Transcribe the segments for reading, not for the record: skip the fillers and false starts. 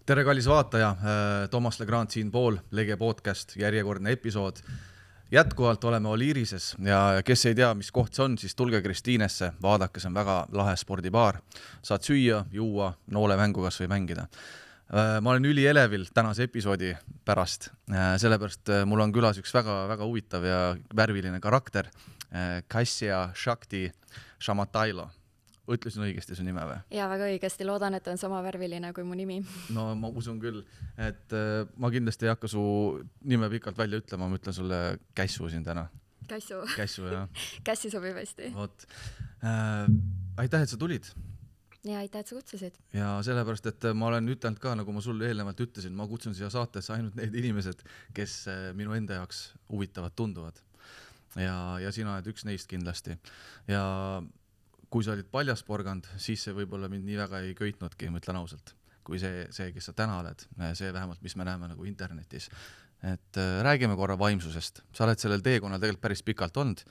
Tere kallis vaataja, Toomas Legrand siinpool, Lege podcast, järjekordne episood. Jätkuvalt oleme Oliirises ja kes ei tea, mis koht see on, siis tulge Kristiinesse, vaadake, see on väga lahe spordibaar. Saad süüa, juua, noolemängu kas või mängida. Ma olen ülielevil tänase episoodi pärast, sellepärast mul on külas üks väga huvitav ja värviline karakter, Kasia Shakti Shamatailo. Ütlesin õigesti su nime või? Ja väga õigesti, loodan, et on sama värviline kui mu nimi. No ma usun küll, et ma kindlasti ei hakka su nime pikalt välja ütlema, ma ütlen sulle Kässu siin täna. Kässu, jah. Kässi sobib hästi. Vot. Aitäh, et sa tulid. Ja aitäh, et sa kutsusid. Ja sellepärast, et ma olen ütelnud ka, nagu ma sulle eelnevalt ütlesin, ma kutsun siia saatesse ainult need inimesed, kes minu enda jaoks huvitavad tunduvad. Ja sina oled üks neist kindlasti. Ja kui sa olid paljasporgand, siis see võib-olla mind nii väga ei köitnudki, ma ütlen ausalt, kui see, kes sa täna oled, see vähemalt, mis me näeme nagu internetis. Et räägime korra vaimsusest. Sa oled sellel teekonnal tegelikult päris pikalt olnud,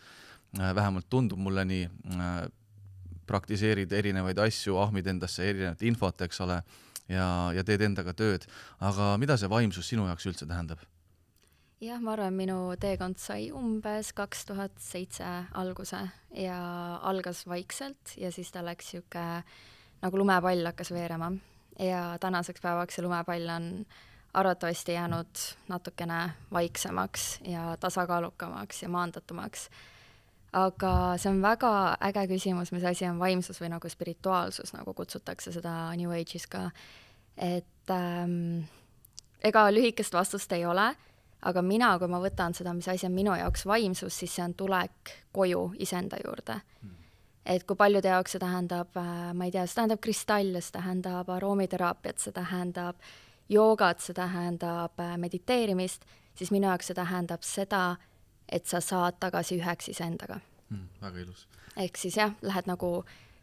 vähemalt tundub mulle nii, praktiseerid erinevaid asju, ahmid endasse erinevat infot, eks ole, ja teed endaga tööd. Aga mida see vaimsus sinu jaoks üldse tähendab? Jah, ma arvan, minu teekond sai umbes 2007 alguse ja algas vaikselt ja siis ta läks siuke nagu lumepall hakkas veerema ja tänaseks päevaks see lumepall on arvatavasti jäänud natukene vaiksemaks ja tasakaalukamaks ja maandatumaks. Aga see on väga äge küsimus, mis asi on vaimsus või nagu spirituaalsus, nagu kutsutakse seda New Age'is ka. Et ega lühikest vastust ei ole, aga mina, kui ma võtan seda, mis asi on minu jaoks vaimsus, siis see on tulek koju iseenda juurde. Et kui paljude jaoks see tähendab, ma ei tea, see tähendab kristalle, see tähendab aroomiterapiat, see tähendab joogat, see tähendab mediteerimist, siis minu jaoks see tähendab seda, et sa saad tagasi üheks iseendaga. Väga ilus. Ehk siis jah, lähed nagu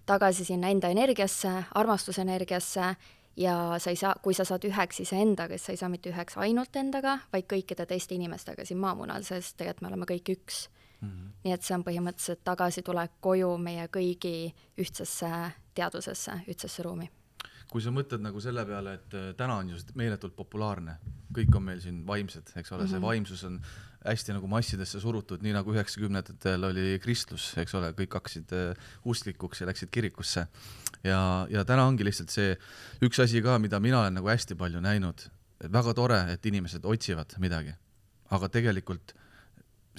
tagasi sinna enda energiasse, armastusenergiasse, ja sa ei saa, kui sa saad üheks iseendaga, siis sa ei saa mitte üheks ainult endaga, vaid kõikide teiste inimestega siin maamunal, sest tegelikult me oleme kõik üks. Nii et see on põhimõtteliselt tagasi tulek koju meie kõigi ühtsesse teadvusesse, ühtsesse ruumi. Kui sa mõtled nagu selle peale, et täna on just meeletult populaarne, kõik on meil siin vaimsed, eks ole, see vaimsus on hästi nagu massidesse surutud, nii nagu 90-ndatel oli kristlus, eks ole, kõik hakkasid usklikuks ja läksid kirikusse. Ja täna ongi lihtsalt see üks asi ka, mida mina olen nagu hästi palju näinud. Väga tore, et inimesed otsivad midagi, aga tegelikult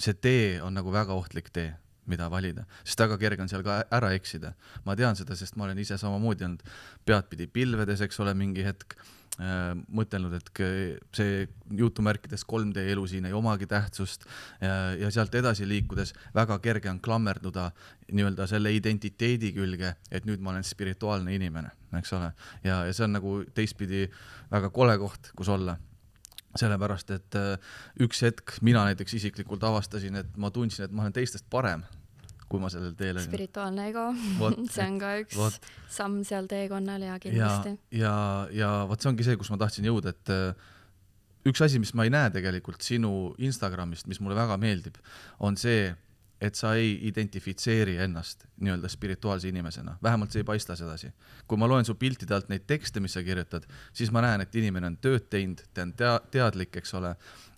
see tee on nagu väga ohtlik tee, mida valida, sest väga kerge on seal ka ära eksida. Ma tean seda, sest ma olen ise samamoodi olnud peadpidi pilvedes, eks ole, mingi hetk mõtelnud, et see jutumärkides 3D elu siin ei omagi tähtsust ja sealt edasi liikudes väga kerge on klammerduda nii-öelda selle identiteedi külge, et nüüd ma olen spirituaalne inimene, eks ole. Ja see on nagu teistpidi väga kole koht, kus olla. Sellepärast, et üks hetk mina näiteks isiklikult avastasin, et ma tundsin, et ma olen teistest parem, kui ma sellel teel olin. Spirituaalne ego, see on ka üks samm seal teekonnal ja kindlasti. Ja võt see ongi see, kus ma tahtsin jõuda, et üks asi, mis ma ei näe tegelikult sinu Instagramist, mis mulle väga meeldib, on see, et sa ei identifitseeri ennast nii-öelda spirituaalse inimesena. Vähemalt see ei paista sedasi. Kui ma loen su piltide alt neid tekste, mis sa kirjutad, siis ma näen, et inimene on tööd teinud, ta on teadlik, eks ole,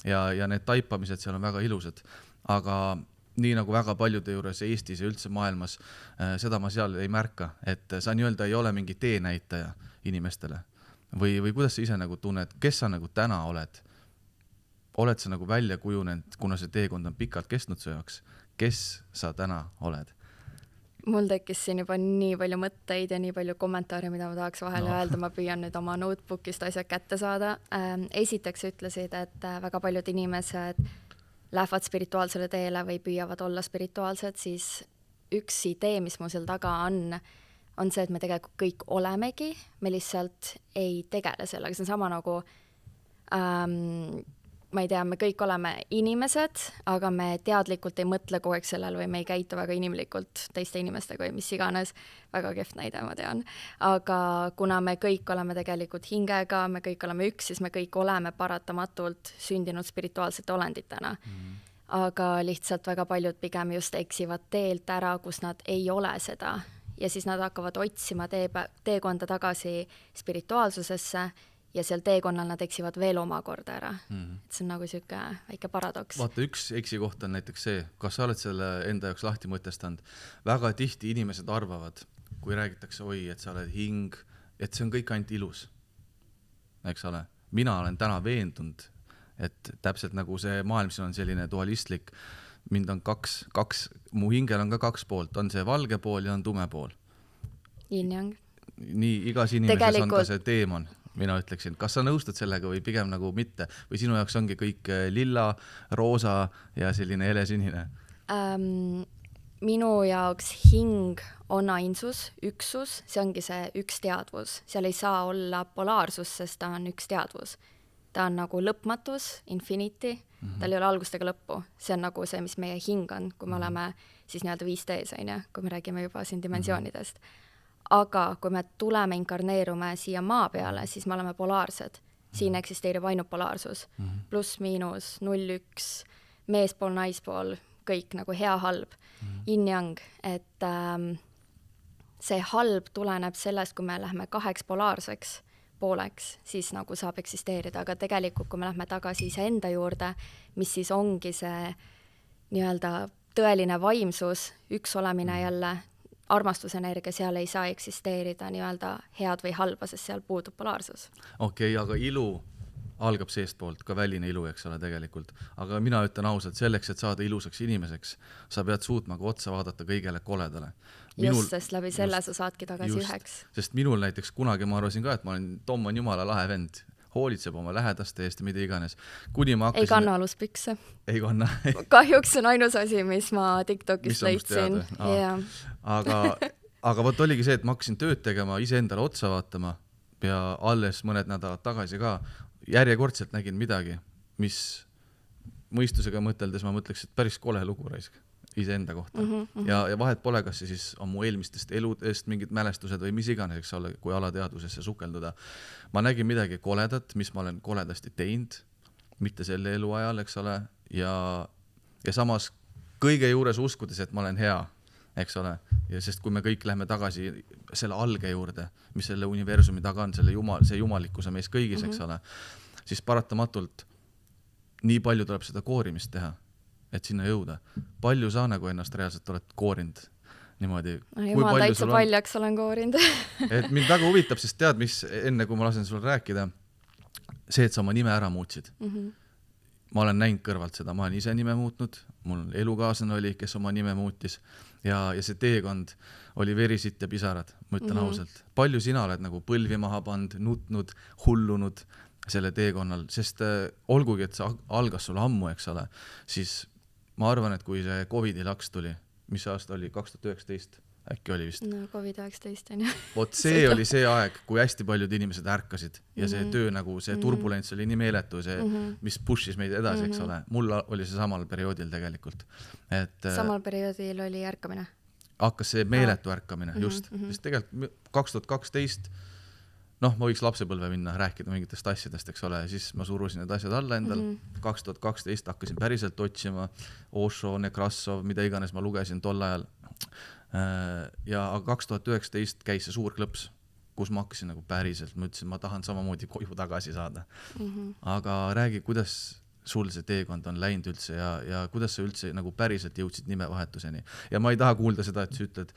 ja need taipamised seal on väga ilusad. Aga nii nagu väga paljude juures Eestis ja üldse maailmas, seda ma seal ei märka, et sa nii-öelda ei ole mingi teenäitaja inimestele. Või kuidas sa ise nagu tunned, kes sa nagu täna oled? Oled sa nagu välja kujunenud, kuna see teekond on pikalt kestnud su jaoks? Kes sa täna oled? Mul tekkis siin juba nii palju mõtteid ja nii palju kommentaare, mida ma tahaks vahele öelda. Ma püüan nüüd oma notebookist asjad kätte saada. Esiteks ütlesid, et väga paljud inimesed lähevad spirituaalsele teele või püüavad olla spirituaalsed, siis üks idee, mis mul seal taga on see, et me tegelikult kõik olemegi, me lihtsalt ei tegele sellega. See on sama nagu ma ei tea, me kõik oleme inimesed, aga me teadlikult ei mõtle kogu aeg sellel või me ei käitu väga inimlikult teiste inimestega või mis iganes. Väga kehv näide, ma tean. Aga kuna me kõik oleme tegelikult hingega, me kõik oleme üks, siis me kõik oleme paratamatult sündinud spirituaalsete olenditena. Aga lihtsalt väga paljud pigem just eksivad teelt ära, kus nad ei ole seda. Ja siis nad hakkavad otsima teekonda tagasi spirituaalsusesse ja seal teekonnal nad eksivad veel omakorda ära. Et see on nagu siuke väike paradoks. Vaata, üks eksikoht on näiteks see, kas sa oled selle enda jaoks lahti mõtestanud. Väga tihti inimesed arvavad, kui räägitakse, oi, et sa oled hing, et see on kõik ainult ilus. Eks ole? Mina olen täna veendunud, et täpselt nagu see maailm siin on selline dualistlik, mind on kaks, mu hingel on ka 2 poolt, on see valge pool ja on tume pool. Yin-yang. Nii, igas inimeses on ka see teemon, mina ütleksin. Kas sa nõustud sellega või pigem nagu mitte? Või sinu jaoks ongi kõik lilla, roosa ja selline helesinine? Minu jaoks hing on ainsus, üksus, see ongi see üks teadvus. Seal ei saa olla polaarsus, sest ta on üks teadvus. Ta on nagu lõpmatus, infinity, tal ei ole algust ega lõppu. See on nagu see, mis meie hing on, kui me oleme siis nii-öelda 5Ds, kui me räägime juba siin dimensioonidest. Aga kui me tuleme, inkarneerume siia maa peale, siis me oleme polaarsed. Siin eksisteerib ainult polaarsus. Pluss, miinus, 0-1, meespool, naispool, kõik nagu hea, halb. Yin-yang, et see halb tuleneb sellest, kui me lähme 2 polaarseks pooleks, siis nagu saab eksisteerida, aga tegelikult, kui me lähme tagasi iseenda juurde, mis siis ongi see nii-öelda tõeline vaimsus, üks olemine jälle, armastusenergia, seal ei saa eksisteerida nii-öelda head või halba, sest seal puudub polaarsus. Okei, aga ilu algab seestpoolt, ka väline ilu, eks ole tegelikult. Aga mina ütlen ausalt, selleks, et saada ilusaks inimeseks, sa pead suutma ka otsa vaadata kõigele koledale. Sest läbi selle sa saadki tagasi üheks. Sest minul näiteks kunagi ma arvasin ka, et ma olen Tom on jumala lahe vend, hoolitseb oma lähedaste eest ja mida iganes. Kuni ma hakkasin... Ei kanna aluspükse. Ei kanna. Kahjuks on ainus asi, mis ma TikTokis leidsin. Aga võt oligi see, et ma hakkasin tööd tegema, ise endale otsa vaatama ja alles mõned nädalad tagasi ka järjekordselt nägin midagi, mis mõistusega mõteldes ma mõtleks, et päris kole lugu raisk iseenda kohta. Ja vahet pole, kas see siis on mu eelmistest eludest mingid mälestused või mis iganes, eks ole, kui alateadvusesse sukelduda. Ma nägin midagi koledat, mis ma olen koledasti teinud, mitte selle elu ajal, eks ole, ja samas kõige juures uskudes, et ma olen hea, eks ole, ja sest kui me kõik lähme tagasi selle alge juurde, mis selle universumi taga on, see jumalikkuse mees kõigis, eks ole, siis paratamatult nii palju tuleb seda koorimist teha, et sinna jõuda. Palju sa nagu ennast reaalselt oled koorinud niimoodi? Jumal täitsa paljaks olen koorinud. Et mind väga huvitab, sest tead, mis enne kui ma lasen sulle rääkida, see, et sa oma nime ära muutsid. Ma olen näinud kõrvalt seda, ma olen ise nime muutnud, mul elukaaslane oli, kes oma nime muutis ja see teekond oli verisit ja pisarad, ma ütlen ausalt. Palju sina oled nagu põlvi maha pand, nutnud, hullunud selle teekonnal, sest olgugi, et see algas sulle ammu, eks ole, siis ma arvan, et kui see COVID-i laks tuli, mis aasta oli? 2019 äkki oli vist? No COVID-19 on ju. Vot see oli see aeg, kui hästi paljud inimesed ärkasid ja see töö nagu, see turbulents oli nii meeletu, see, mis pushis meid edasi, eks ole. Mul oli see samal perioodil tegelikult. Samal perioodil oli ärkamine? Hakkas see meeletu ärkamine, just. Sest tegelikult 2012 noh, ma võiks lapsepõlve minna, rääkida mingitest asjadest, eks ole, ja siis ma surusin need asjad alla endal. 2012 hakkasin päriselt otsima Osho, Nekrassov, mida iganes ma lugesin tol ajal. Ja 2019 käis see suur klõps, kus ma hakkasin nagu päriselt, ma ütlesin, ma tahan samamoodi koju tagasi saada. Aga räägi, kuidas sul see teekond on läinud üldse ja kuidas sa üldse nagu päriselt jõudsid nimevahetuseni. Ja ma ei taha kuulda seda, et sa ütled,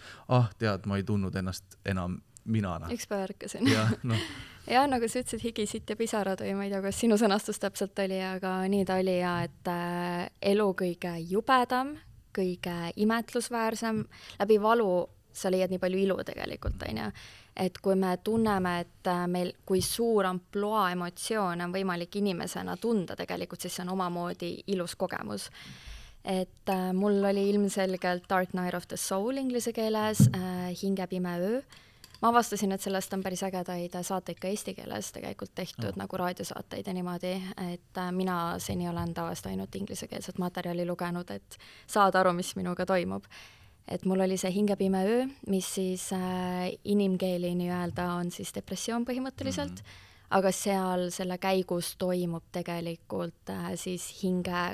tead, ma ei tundnud ennast enam minana. Üks päev ärkasin. Ja nagu sa ütlesid, higisid ja pisarad või ma ei tea, kas sinu sõnastus täpselt oli, aga nii ta oli ja et elu kõige jubedam, kõige imetlusväärsem, läbi valu sa leiad nii palju ilu tegelikult, on ju. Et kui me tunneme, et meil kui suur amploa emotsioon on võimalik inimesena tunda tegelikult, siis see on omamoodi ilus kogemus. Et mul oli ilmselgelt Dark Night of the Soul inglise keeles, Hingepime öö. Ma avastasin, et sellest on päris ägedaid saateid ka eesti keeles tegelikult tehtud nagu raadiosaateid ja niimoodi, et mina seni olen tavaliselt ainult inglisekeelset materjali lugenud, et saada aru, mis minuga toimub. Et mul oli see Hingepime öö, mis siis inimkeeli nii-öelda on siis depressioon põhimõtteliselt, aga seal selle käigus toimub tegelikult siis hinge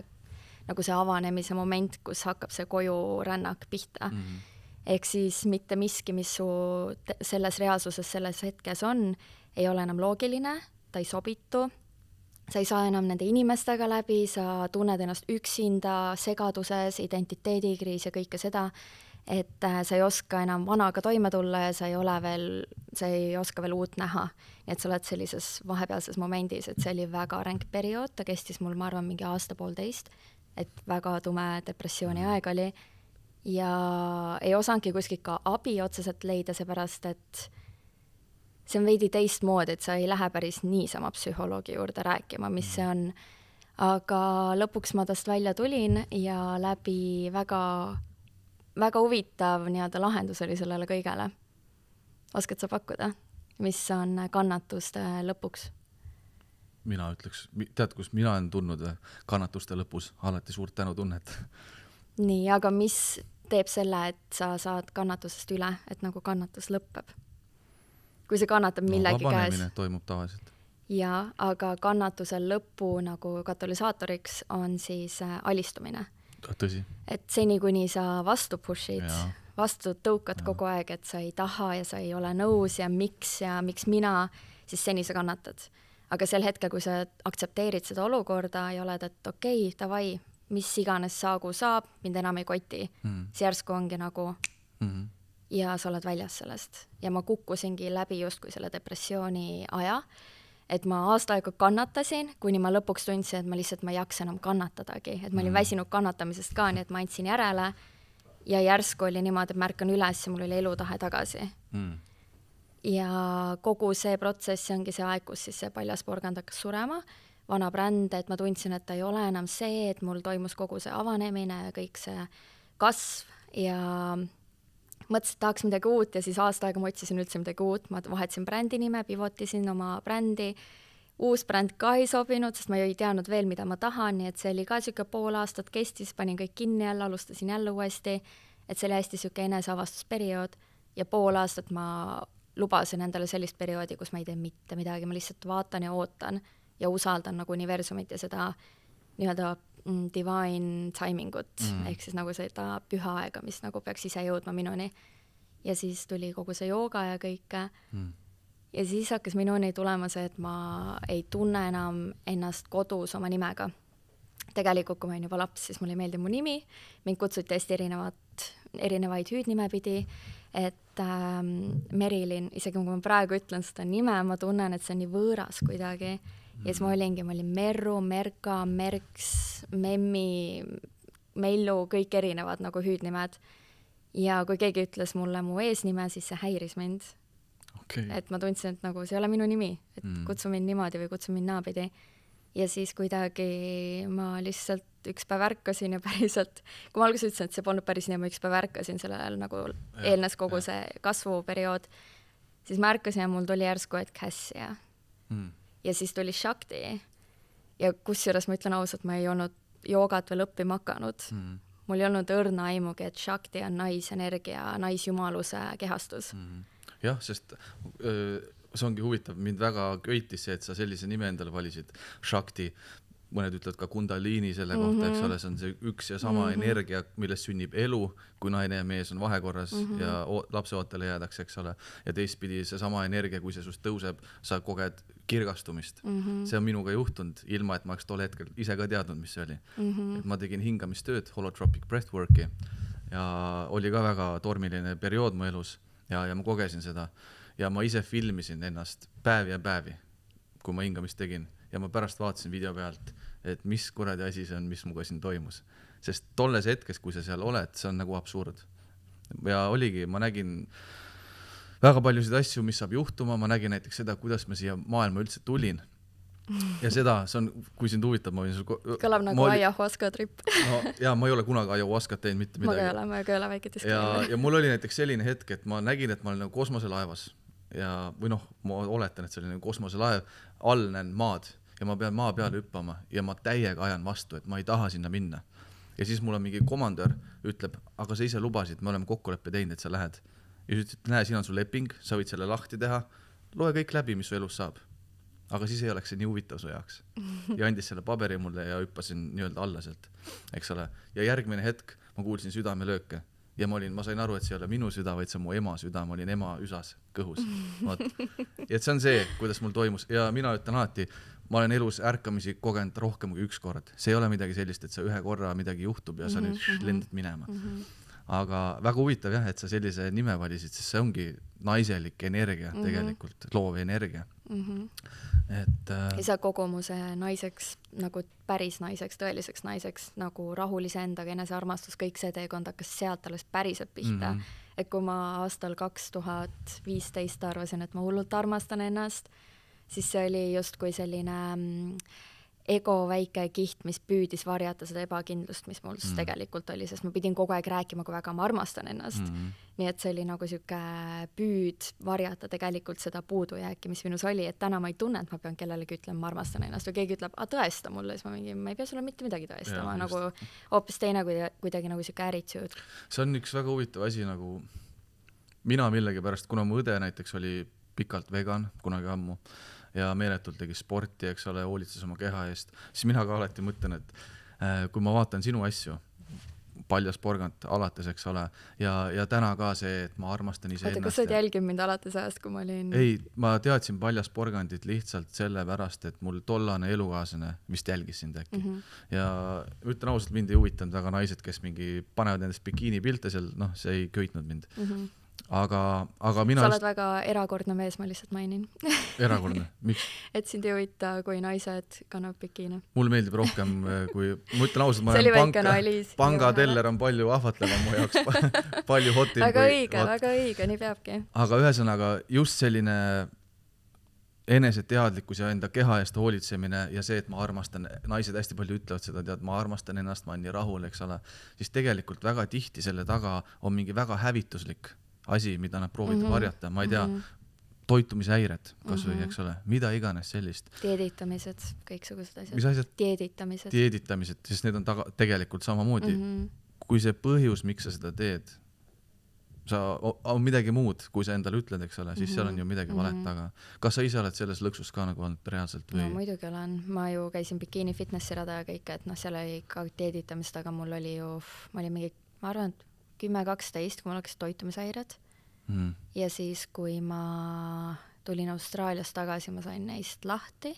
nagu see avanemise moment, kus hakkab see koju rännak pihta. Ehk siis mitte miski, mis su selles reaalsuses selles hetkes on, ei ole enam loogiline, ta ei sobitu, sa ei saa enam nende inimestega läbi, sa tunned ennast üksinda, segaduses, identiteedikriis ja kõike seda, et sa ei oska enam vanaga toime tulla ja sa ei oska veel uut näha. Nii et sa oled sellises vahepealses momendis, et see oli väga ränk periood, ta kestis mul, ma arvan, mingi aasta-poolteist, et väga tume depressiooni aeg oli ja ei osanudki kuskilt ka abi otseselt leida, seepärast et see on veidi teistmoodi, et sa ei lähe päris niisama psühholoogi juurde rääkima, mis see on. Aga lõpuks ma tast välja tulin ja läbi väga huvitav nii-öelda lahendus oli sellele kõigele. Oskad sa pakkuda, mis on kannatuste lõpuks? Mina ütleks, tead, kus mina olen tundnud kannatuste lõpus alati suurt tänutunnet. Nii, aga mis teeb selle, et sa saad kannatusest üle, et nagu kannatus lõpeb? Kui see kannatab millegi vabanemine toimub tavaliselt. Ja, aga kannatuse lõpu nagu katalüsaatoriks on siis alistumine. Tõsi. Et seni, kuni sa vastu pushid, vastu tõukad kogu aeg, et sa ei taha ja sa ei ole nõus ja miks mina, siis seni sa kannatad. Aga sel hetkel, kui sa aktsepteerid seda olukorda ja oled, et okei, davai, mis iganes saagu saab, mind enam ei koti. See järsku ongi nagu ja sa oled väljas sellest. Ja ma kukkusingi läbi justkui selle depressiooni aja, et ma aasta aega kannatasin, kuni ma lõpuks tundsin, et ma lihtsalt ei jaksa enam kannatadagi, et ma olin väsinud kannatamisest ka, nii et ma andsin järele ja järsku oli niimoodi, et märkan üles ja mul oli elutahe tagasi. Ja kogu see protsess ongi see aeg, kus siis see paljasporgand hakkas surema, vana bränd, et ma tundsin, et ta ei ole enam see, et mul toimus kogu see avanemine ja kõik see kasv ja mõtlesin, et tahaks midagi uut ja siis aasta aega ma otsisin üldse midagi uut, ma vahetasin brändi nime, pivotisin oma brändi, uus bränd ka ei sobinud, sest ma ei teadnud veel, mida ma tahan, nii et see oli ka siuke pool aastat kestis, panin kõik kinni jälle, alustasin jälle uuesti, et see oli hästi siuke eneseavastusperiood ja pool aastat ma lubasin endale sellist perioodi, kus ma ei tee mitte midagi, ma lihtsalt vaatan ja ootan ja usaldan nagu universumit ja seda nii-öelda divine timingut, ehk siis nagu seda püha aega, mis nagu peaks ise jõudma minuni. Ja siis tuli kogu see jooga ja kõike. Ja siis hakkas minuni tulema see, et ma ei tunne enam ennast kodus oma nimega. Tegelikult, kui ma olin juba laps, siis mulle ei meeldi mu nimi. Mind kutsuti hästi erinevaid hüüdnime pidi, et Merilin, isegi kui ma praegu ütlen seda nime, ma tunnen, et see on nii võõras kuidagi. Ja siis ma olin Merru, Merka, Merks, Memmi, Mellu, kõik erinevad nagu hüüdnimed. Ja kui keegi ütles mulle mu eesnime, siis see häiris mind. Okay. Et ma tundsin, et nagu see ei ole minu nimi, et kutsu mind niimoodi või kutsu mind naapidi. Ja siis kuidagi ma lihtsalt üks päev ärkasin ja päriselt, kui ma alguses ütlesin, et see polnud päris nii, ma üks päev ärkasin sellel nagu eelnes kogu see kasvuperiood, siis ma ärkasin ja mul tuli järsku, et Cassia. Ja siis tuli Shakti ja kusjuures ma ütlen ausalt, ma ei olnud joogat veel õppima hakanud. Mul ei olnud õrna aimugi, et Shakti on naisenergia, naisjumaluse kehastus. Jah, sest see ongi huvitav, mind väga köitis see, et sa sellise nime endale valisid, Shakti, mõned ütlevad ka Kundalini selle kohta, eks ole, see on see üks ja sama energia, millest sünnib elu, kui naine ja mees on vahekorras ja lapseootele jäädakse, eks ole, ja teistpidi see sama energia, kui see sust tõuseb, sa koged kirgastumist. See on minuga juhtunud, ilma et ma oleks tol hetkel ise ka teadnud, mis see oli. Et ma tegin hingamistööd, holotropic breathworki ja oli ka väga tormiline periood mu elus ja ma kogesin seda ja ma ise filmisin ennast päevi ja päevi, kui ma hingamist tegin ja ma pärast vaatasin video pealt, et mis kuradi asi see on, mis muga siin toimus. Sest tolles hetkes, kui sa seal oled, see on nagu absurd. Ja oligi, ma nägin väga paljusid asju, mis saab juhtuma, ma nägin näiteks seda, kuidas ma siia maailma üldse tulin. Ja seda, see on, kui sind huvitab, ma võin sul... Kõlab nagu ayahuasca trip. No, ja ma ei ole kunagi ayahuascat teinud mitte midagi. Ma ka ei ole väike diskriimine. Ja mul oli näiteks selline hetk, et ma nägin, et ma olen nagu kosmoselaevas. Ja, või noh, ma oletan, et see oli nagu kosmoselaev, all näen maad ja ma pean maa peale hüppama ja ma täiega ajan vastu, et ma ei taha sinna minna. Ja siis mul on mingi komandör, ütleb, aga sa ise lubasid, me oleme kokkuleppe teinud, et sa lähed. Ja siis ütleb, näe, siin on su leping, sa võid selle lahti teha, loe kõik läbi, mis su elus saab. Aga siis ei oleks see nii huvitav su jaoks. Ja andis selle paberi mulle ja hüppasin nii-öelda alla sealt, eks ole. Ja järgmine hetk ma kuulsin südamelööke ja ma sain aru, et see ei ole minu süda, vaid see on mu ema süda, ma olin ema üsas kõhus. Ja et see on see, kuidas mul toimus ja mina ütlen alati, ma olen elus ärkamisi kogenud rohkem kui üks kord. See ei ole midagi sellist, et sa ühe korra midagi juhtub ja sa nüüd lendad minema. Aga väga huvitav jah, et sa sellise nime valisid, sest see ongi naiselik energia tegelikult, loov energia. Et ja sa kogumuse naiseks, nagu päris naiseks, tõeliseks naiseks, nagu rahulise endaga, enesearmastus, kõik see teekond hakkas sealt alles päriselt pihta. Et kui ma aastal 2015 arvasin, et ma hullult armastan ennast, siis see oli justkui selline ego väike kiht, mis püüdis varjata seda ebakindlust, mis mul tegelikult oli, sest ma pidin kogu aeg rääkima, kui väga ma armastan ennast. Nii et see oli nagu siuke püüd varjata tegelikult seda puudujääki, mis minus oli, et täna ma ei tunne, et ma pean kellelegi ütlema, ma armastan ennast või keegi ütleb, tõesta mulle, siis ma ei pea sulle mitte midagi tõestama, nagu hoopis teine kuidagi nagu siuke attitude. See on üks väga huvitav asi, nagu mina millegipärast, kuna mu õde näiteks oli pikalt vegan, kunagi ammu, ja meeletult tegi sporti, eks ole, hoolitses oma keha eest, siis mina ka alati mõtlen, et kui ma vaatan sinu asju, Paljas porgand alates, eks ole, ja täna ka see, et ma armastan ise ennast. Kas sa jälgid mind alates ajast, kui ma olin... Ei, ma teadsin Paljas porgandit lihtsalt sellepärast, et mul tollane elukaaslane vist jälgis sind äkki. Ja ütlen ausalt, mind ei huvitanud väga naised, kes mingi panevad endast bikiini pilte seal, see ei köitnud mind. Aga mina... Sa oled väga erakordne mees, ma lihtsalt mainin. Erakordne? Miks? Et sind ei huvita, kui naised kannab bikiine. Mulle meeldib rohkem, kui... Ma ütlen ausalt, ma olen pangateller on palju ahvatlevam mu jaoks, palju hotim. Väga õige, nii peabki. Aga ühesõnaga, just selline eneseteadlikkus ja enda keha eest hoolitsemine ja see, et ma armastan, naised hästi palju ütlevad seda, tead, ma armastan ennast, ma olen nii rahul, eks ole, siis tegelikult väga tihti selle taga on mingi väga hävituslik asi, mida nad proovivad varjata, ma ei tea, toitumishäired kasvõi, eks ole, mida iganes sellist. Dieditamised, kõiksugused asjad. Mis asjad? Dieditamised, sest need on tegelikult samamoodi. Kui see põhjus, miks sa seda teed, on midagi muud, kui sa endale ütled, eks ole, siis seal on ju midagi valet taga. Kas sa ise oled selles lõksus ka nagu olnud reaalselt? Või? No muidugi olen. Ma ju käisin bikiini fitnessi rada ja kõik, et seal oli ka dieditamist, aga mul oli ju, ma olin mingi, ma arvan, 10-12, kui mul hakkasid toitumishäired. Ja siis, kui ma tulin Austraaliast tagasi, ma sain neist lahti,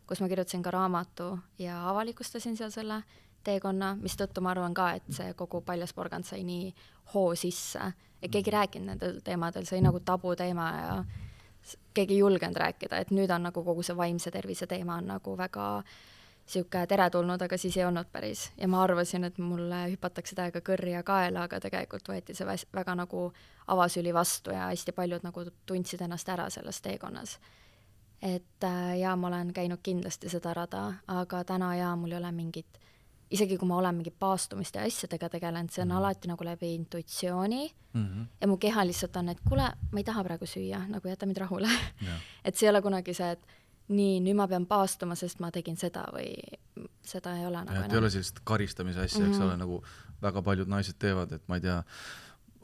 kus ma kirjutasin ka raamatu ja avalikustasin seal selle teekonna, mis tõttu ma arvan ka, et see kogu Paljas porgand sai nii hoo sisse. Ja keegi rääkinud nendel teemadel, see oli nagu tabu teema ja keegi ei julgenud rääkida, et nüüd on nagu kogu see vaimse tervise teema on nagu väga siuke teretulnud, aga siis ei olnud päris. Ja ma arvasin, et mulle hüpatakse täiega kõrri ja kaela, aga tegelikult võeti see väga nagu avasüli vastu ja hästi paljud nagu tundsid ennast ära selles teekonnas. Et ja ma olen käinud kindlasti seda rada, aga täna mul ei ole mingit, isegi kui ma olen mingi paastumist ja asjadega tegelenud, see on alati nagu läbi intuitsiooni ja mu keha lihtsalt on, et kuule, ma ei taha praegu süüa, nagu jäta mind rahule. Et see ei ole kunagi see, et nii, nüüd ma pean paastuma, sest ma tegin seda või seda ei ole nagu enam. Ei ole sellist karistamise asja, eks ole, nagu väga paljud naised teevad, et ma ei tea,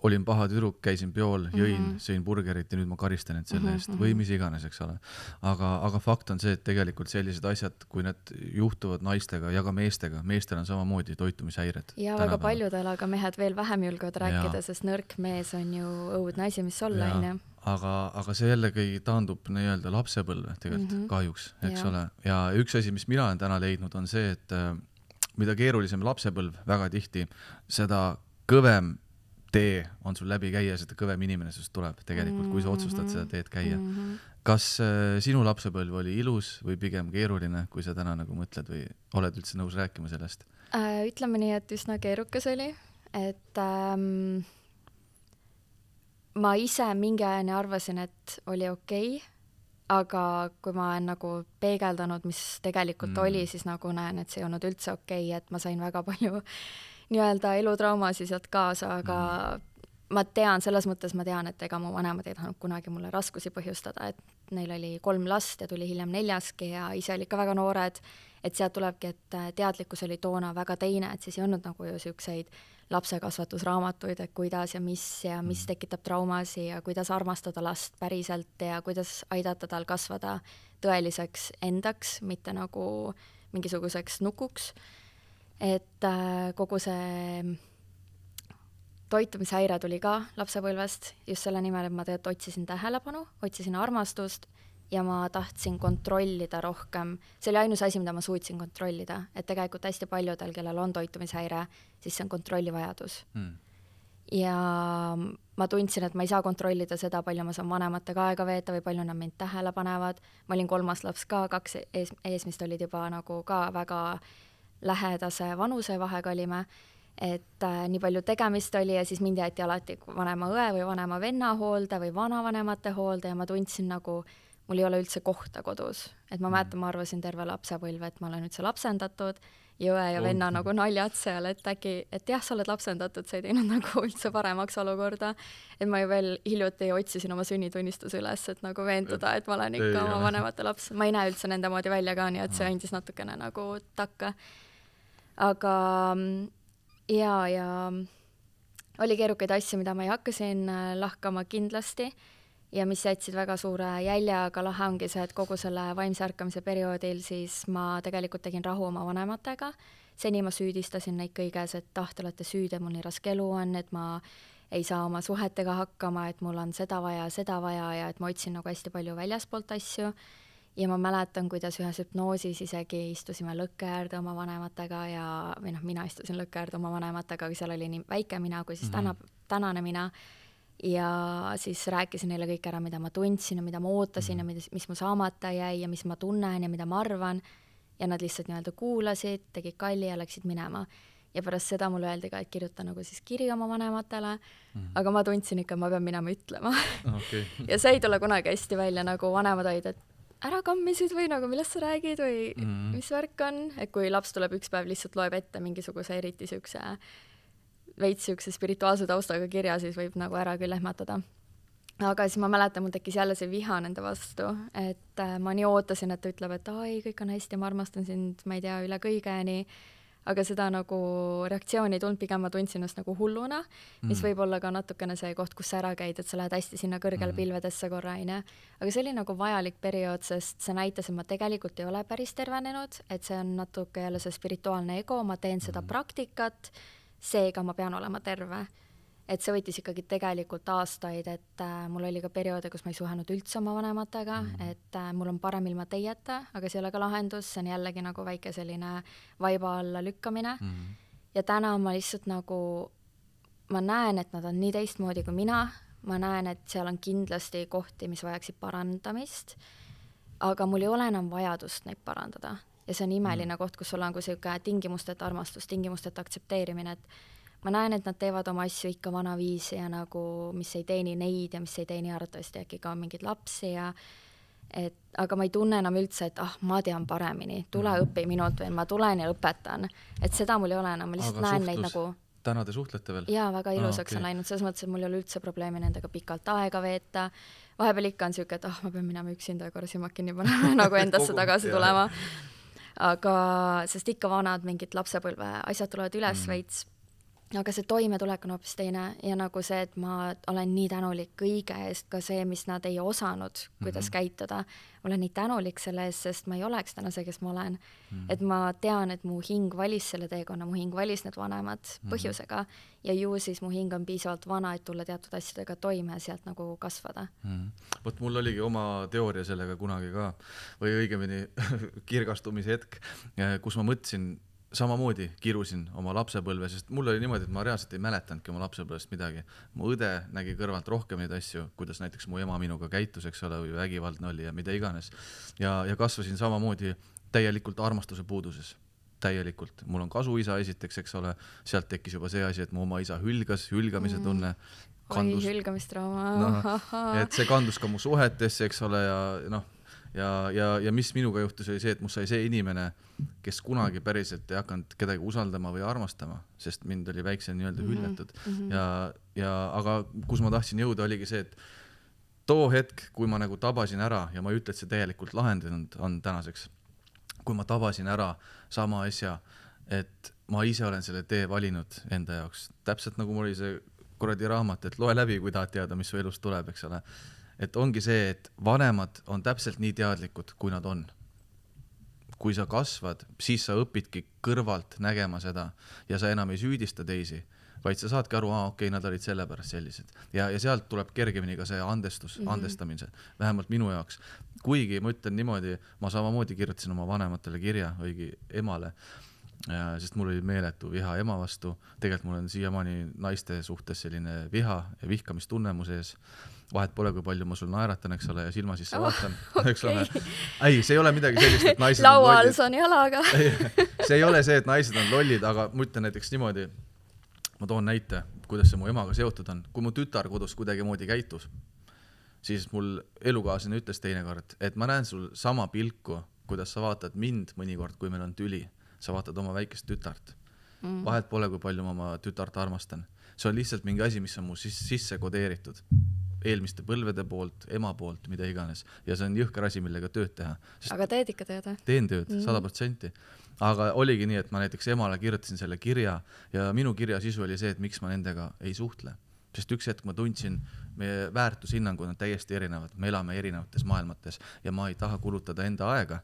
olin paha tüdruk, käisin peol, jõin, sõin burgerit ja nüüd ma karistan end selle eest või mis iganes, eks ole. Aga fakt on see, et tegelikult sellised asjad, kui need juhtuvad naistega ja ka meestega, meestel on samamoodi toitumishäired. Ja väga paljudel, aga mehed veel vähem julgevad rääkida, sest nõrk mees on ju õudne asi, mis olla, on. Aga see jällegi taandub nii-öelda lapsepõlve tegelikult kahjuks, eks ole. Ja üks asi, mis mina olen täna leidnud, on see, et mida keerulisem lapsepõlv väga tihti, seda kõvem tee on sul läbi käia, seda kõvem inimene sest tuleb tegelikult, kui sa otsustad seda teed käia. Kas sinu lapsepõlv oli ilus või pigem keeruline, kui sa täna nagu mõtled või oled üldse nõus rääkima sellest? Ütleme nii, et üsna keerukas oli, et ma ise mingi ajani arvasin, et oli okei, aga kui ma olen nagu peegeldanud, mis tegelikult oli, siis nagu näen, et see ei olnud üldse okei, et ma sain väga palju nii-öelda elutraumasi sealt kaasa, aga ma tean, selles mõttes ma tean, et ega mu vanemad ei tahtnud kunagi mulle raskusi põhjustada, et neil oli 3 last ja tuli hiljem 4. ja ise oli ikka väga noored, et sealt tulebki, et teadlikkus oli toona väga teine, et siis ei olnud nagu ju siukseid lapsekasvatusraamatuid, et kuidas ja mis tekitab traumasi ja kuidas armastada last päriselt ja kuidas aidata tal kasvada tõeliseks endaks, mitte nagu mingisuguseks nukuks. Et kogu see toitumishäire tuli ka lapsepõlvest just selle nimel, et ma tegelikult otsisin tähelepanu, otsisin armastust ja ma tahtsin kontrollida rohkem. See oli ainus asi, mida ma suutsin kontrollida, et tegelikult hästi paljudel, kellel on toitumishäire, siis see on kontrollivajadus. Ja ma tundsin, et ma ei saa kontrollida seda, palju ma saan vanematega aega veeta või palju nad mind tähele panevad. Ma olin 3. laps ka, 2 eesmist olid juba nagu ka väga lähedase vanusevahega olime, et nii palju tegemist oli ja siis mind jäeti alati vanema õe või vanema venna hoolde või vanavanemate hoolde ja ma tundsin nagu, mul ei ole üldse kohta kodus. Et ma mäletan, ma arvasin terve lapsepõlve, et ma olen üldse lapsendatud ja õe ja venna nagu naljad seal, et äkki, et jah, sa oled lapsendatud, sa ei teinud nagu üldse paremaks olukorda. Et ma ju veel hiljuti otsisin oma sünnitunnistuse üles, et nagu veenduda, et ma olen ikka oma vanemate laps. Ma ei näe üldse nende moodi välja ka, nii et see andis natukene nagu takka. Aga ja oli keerukaid asju, mida ma ei hakka siin lahkama kindlasti ja mis jätsid väga suure jälje, aga lahe ongi see, et kogu selle vaimse ärkamise perioodil siis ma tegelikult tegin rahu oma vanematega. Seni ma süüdistasin neid kõiges, et te olete süüdi, et mul nii raske elu on, et ma ei saa oma suhetega hakkama, et mul on seda vaja ja et ma otsin nagu hästi palju väljaspoolt asju. Ja ma mäletan, kuidas ühes hüpnoosis isegi istusime lõkke äärde oma vanematega või mina istusin lõkke äärde oma vanematega, aga seal oli nii väike mina kui siis tänane mina. Ja siis rääkisin neile kõik ära, mida ma tundsin ja mida ma ootasin ja mis mu saamata jäi ja mis ma tunnen ja mida ma arvan. Ja nad lihtsalt nii-öelda kuulasid, tegid kalli ja läksid minema. Ja pärast seda mulle öeldi ka, et kirjuta nagu siis kiri oma vanematele, aga ma tundsin ikka, ma pean minema ütlema. Okay. Ja see ei tule kunagi hästi välja, nagu vanemad olid, et ära kammisid või nagu millest sa räägid või mis värk on, et kui laps tuleb üks päev lihtsalt loeb ette mingisuguse eriti veits spirituaalse taustaga kirja, siis võib nagu ära küll ehmatada. Aga siis ma mäletan, mul tekkis jälle see viha nende vastu, et ma nii ootasin, et ta ütleb, et ai, kõik on hästi, ma armastan sind, ma ei tea, üle kõigeni. Aga seda nagu reaktsiooni ei tulnud, pigem ma tundsin ennast nagu hulluna, mis võib olla ka natukene see koht, kus sa ära käid, et sa lähed hästi sinna kõrgele pilvedesse korra, aine. Aga see oli nagu vajalik periood, sest see näitas, et ma tegelikult ei ole päris tervenenud, et see on natuke jälle see spirituaalne ego, ma teen seda praktikat, seega ma pean olema terve. Et see võttis ikkagi tegelikult aastaid, et mul oli ka perioode, kus ma ei suhenud üldse oma vanematega, et mul on parem ilma teieta, aga see ei ole ka lahendus, see on jällegi nagu väike selline vaiba alla lükkamine. Ja täna ma lihtsalt nagu, ma näen, et nad on nii teistmoodi kui mina, ma näen, et seal on kindlasti kohti, mis vajaksid parandamist, aga mul ei ole enam vajadust neid parandada. Ja see on imeline koht, kus sul on kui selline tingimusteta armastus, tingimusteta aktsepteerimine, et ma näen, et nad teevad oma asju ikka vanaviisi ja nagu, mis ei teeni neid ja mis ei teeni arvatavasti äkki ka mingid lapsi aga ma ei tunne enam üldse, et ma tean paremini, tule õpi minult või ma tulen ja õpetan, et seda mul ei ole enam, ma lihtsalt näen neid nagu täna te suhtlete veel? Jaa, väga ilusaks on läinud, selles mõttes, et mul ei ole üldse probleemi nendega pikalt aega veeta, vahepeal ikka on siuke, et ma pean minema üksinda ja korra silmad kinni panema nagu endasse tagasi tulema, aga sest ikka vanad mingid lapsepõlve asjad tulevad üles veits. Aga see toimetulek on hoopis teine ja nagu see, et ma olen nii tänulik kõige eest, ka see, mis nad ei osanud, kuidas käituda. Olen nii tänulik selle eest, sest ma ei oleks täna see, kes ma olen. Et ma tean, et mu hing valis selle teekonna, mu hing valis need vanemad põhjusega ja ju siis mu hing on piisavalt vana, et tulla teatud asjadega toime ja sealt nagu kasvada. Võt mul oligi oma teooria sellega kunagi ka, või õigemini kirgastumise hetk, kus ma mõtlesin, samamoodi kirusin oma lapsepõlve, sest mul oli niimoodi, et ma reaalselt ei mäletanudki oma lapsepõlvest midagi. Mu õde nägi kõrvalt rohkem neid asju, kuidas näiteks mu ema minuga käitus, eks ole, või vägivaldne oli ja mida iganes. Ja kasvasin samamoodi täielikult armastuse puuduses. Täielikult. Mul on kasuisa esiteks, eks ole, sealt tekkis juba see asi, et mu oma isa hülgamise tunne. Oi, hülgamistrauma. Et see kandus ka mu suhetesse, eks ole, ja mis minuga juhtus oli see, et must sai see inimene, kes kunagi päriselt ei hakanud kedagi usaldama või armastama, sest mind oli väiksel nii-öelda hüljatud. Aga kus ma tahtsin jõuda oligi see, et too hetk, kui ma nagu tabasin ära ja ma ei ütle, et see täielikult lahendanud on tänaseks, kui ma tabasin ära sama asja, et ma ise olen selle tee valinud enda jaoks, täpselt nagu mul oli see kuradi raamat, et loe läbi, kui tahad teada, mis su elust tuleb, eks ole. Et ongi see, et vanemad on täpselt nii teadlikud, kui nad on. Kui sa kasvad, siis sa õpidki kõrvalt nägema seda ja sa enam ei süüdista teisi, vaid sa saadki aru, okei, nad olid sellepärast sellised. Ja sealt tuleb kergemini ka see andestamise, vähemalt minu jaoks. Kuigi ma ütlen niimoodi, ma samamoodi kirjutasin oma vanematele kirja, õigi emale, sest mul oli meeletu viha ema vastu. Tegelikult mul on siiamaani naiste suhtes selline viha ja vihkamistunne mu sees. Vahet pole, kui palju ma sul naeratan, eks ole, ja silma sisse vaatan. Eks ole. Ei, see ei ole midagi sellist, et naised on lollid. Laua all on jalaga. See ei ole see, et naised on lollid, aga ma ütlen näiteks niimoodi, ma toon näite, kuidas see mu emaga seotud on. Kui mu tütar kodus kuidagi moodi käitus, siis mul elukaaslane ütles teinekord, et ma näen sul sama pilku, kuidas sa vaatad mind mõnikord, kui meil on tüli. Sa vaatad oma väikest tütart. Vahet pole, kui palju ma oma tütart armastan. See on lihtsalt mingi asi, mis on mu sisse kodeeritud. Eelmiste põlvede poolt, ema poolt, mida iganes. Ja see on jõhker asi, millega tööd teha. Aga teed ikka tööd? Teen tööd, 100%. Aga oligi nii, et ma näiteks emale kirjutasin selle kirja ja minu kirja sisu oli see, et miks ma nendega ei suhtle. Sest üks hetk ma tundsin, meie väärtushinnangud on täiesti erinevad. Me elame erinevates maailmates ja ma ei taha kulutada enda aega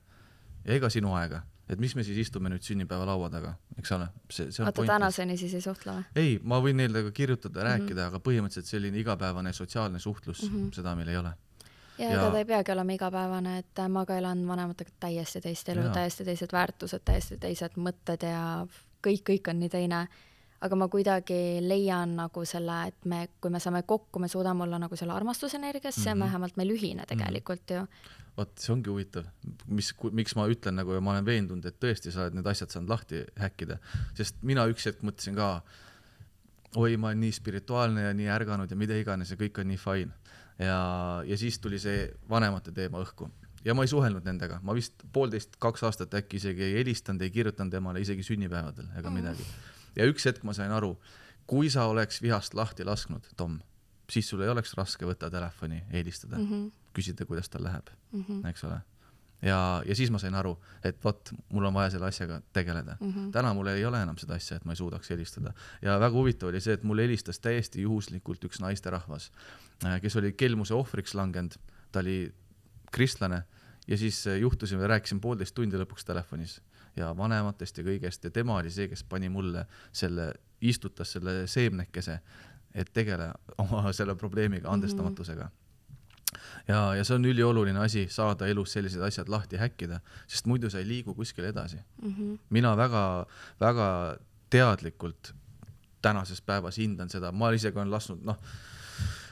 ja ega sinu aega. Et mis me siis istume nüüd sünnipäeva laua taga, eks ole? Oota, tänaseni siis ei suhtle või? Ei, ma võin neile kirjutada, rääkida, aga põhimõtteliselt selline igapäevane sotsiaalne suhtlus, seda meil ei ole. Ja ega ta ei peagi olema igapäevane, et ma ka elan vanematega täiesti teist elu, täiesti teised väärtused, täiesti teised mõtted ja kõik on nii teine. Aga ma kuidagi leian nagu selle, et kui me saame kokku, me suudame olla nagu selle armastusenergiasse, vähemalt meil ühine tegelikult ju. Vot, see ongi huvitav, miks ma ütlen nagu, ja ma olen veendunud, et tõesti sa oled need asjad saanud lahti häkkida, sest mina üks hetk mõtlesin ka, oi, ma olen nii spirituaalne ja nii ärganud ja mida iganes ja kõik on nii fine. Ja siis tuli see vanemate teema õhku ja ma ei suhelnud nendega, ma vist 1,5–2 aastat äkki isegi ei helistanud, ei kirjutanud emale isegi sünnipäevadel ega midagi. Ja üks hetk ma sain aru, kui sa oleks vihast lahti lasknud, Tom, siis sul ei oleks raske võtta telefoni, helistada, küsida, kuidas tal läheb, eks ole. Ja siis ma sain aru, et vot, mul on vaja selle asjaga tegeleda. Täna mul ei ole enam seda asja, et ma ei suudaks helistada. Ja väga huvitav oli see, et mul helistas täiesti juhuslikult üks naisterahvas, kes oli kelmuse ohvriks langenud, ta oli kristlane ja siis juhtusime, rääkisin 1,5 tundi lõpuks telefonis ja vanematest ja kõigest ja tema oli see, kes pani mulle istutas selle seemnekese, et tegele oma selle probleemiga, andestamatusega. Ja see on ülioluline asi saada elus sellised asjad lahti häkkida, sest muidu sa ei liigu kuskil edasi. Mina väga teadlikult tänases päevas hindan seda, ma isegi olen lasknud,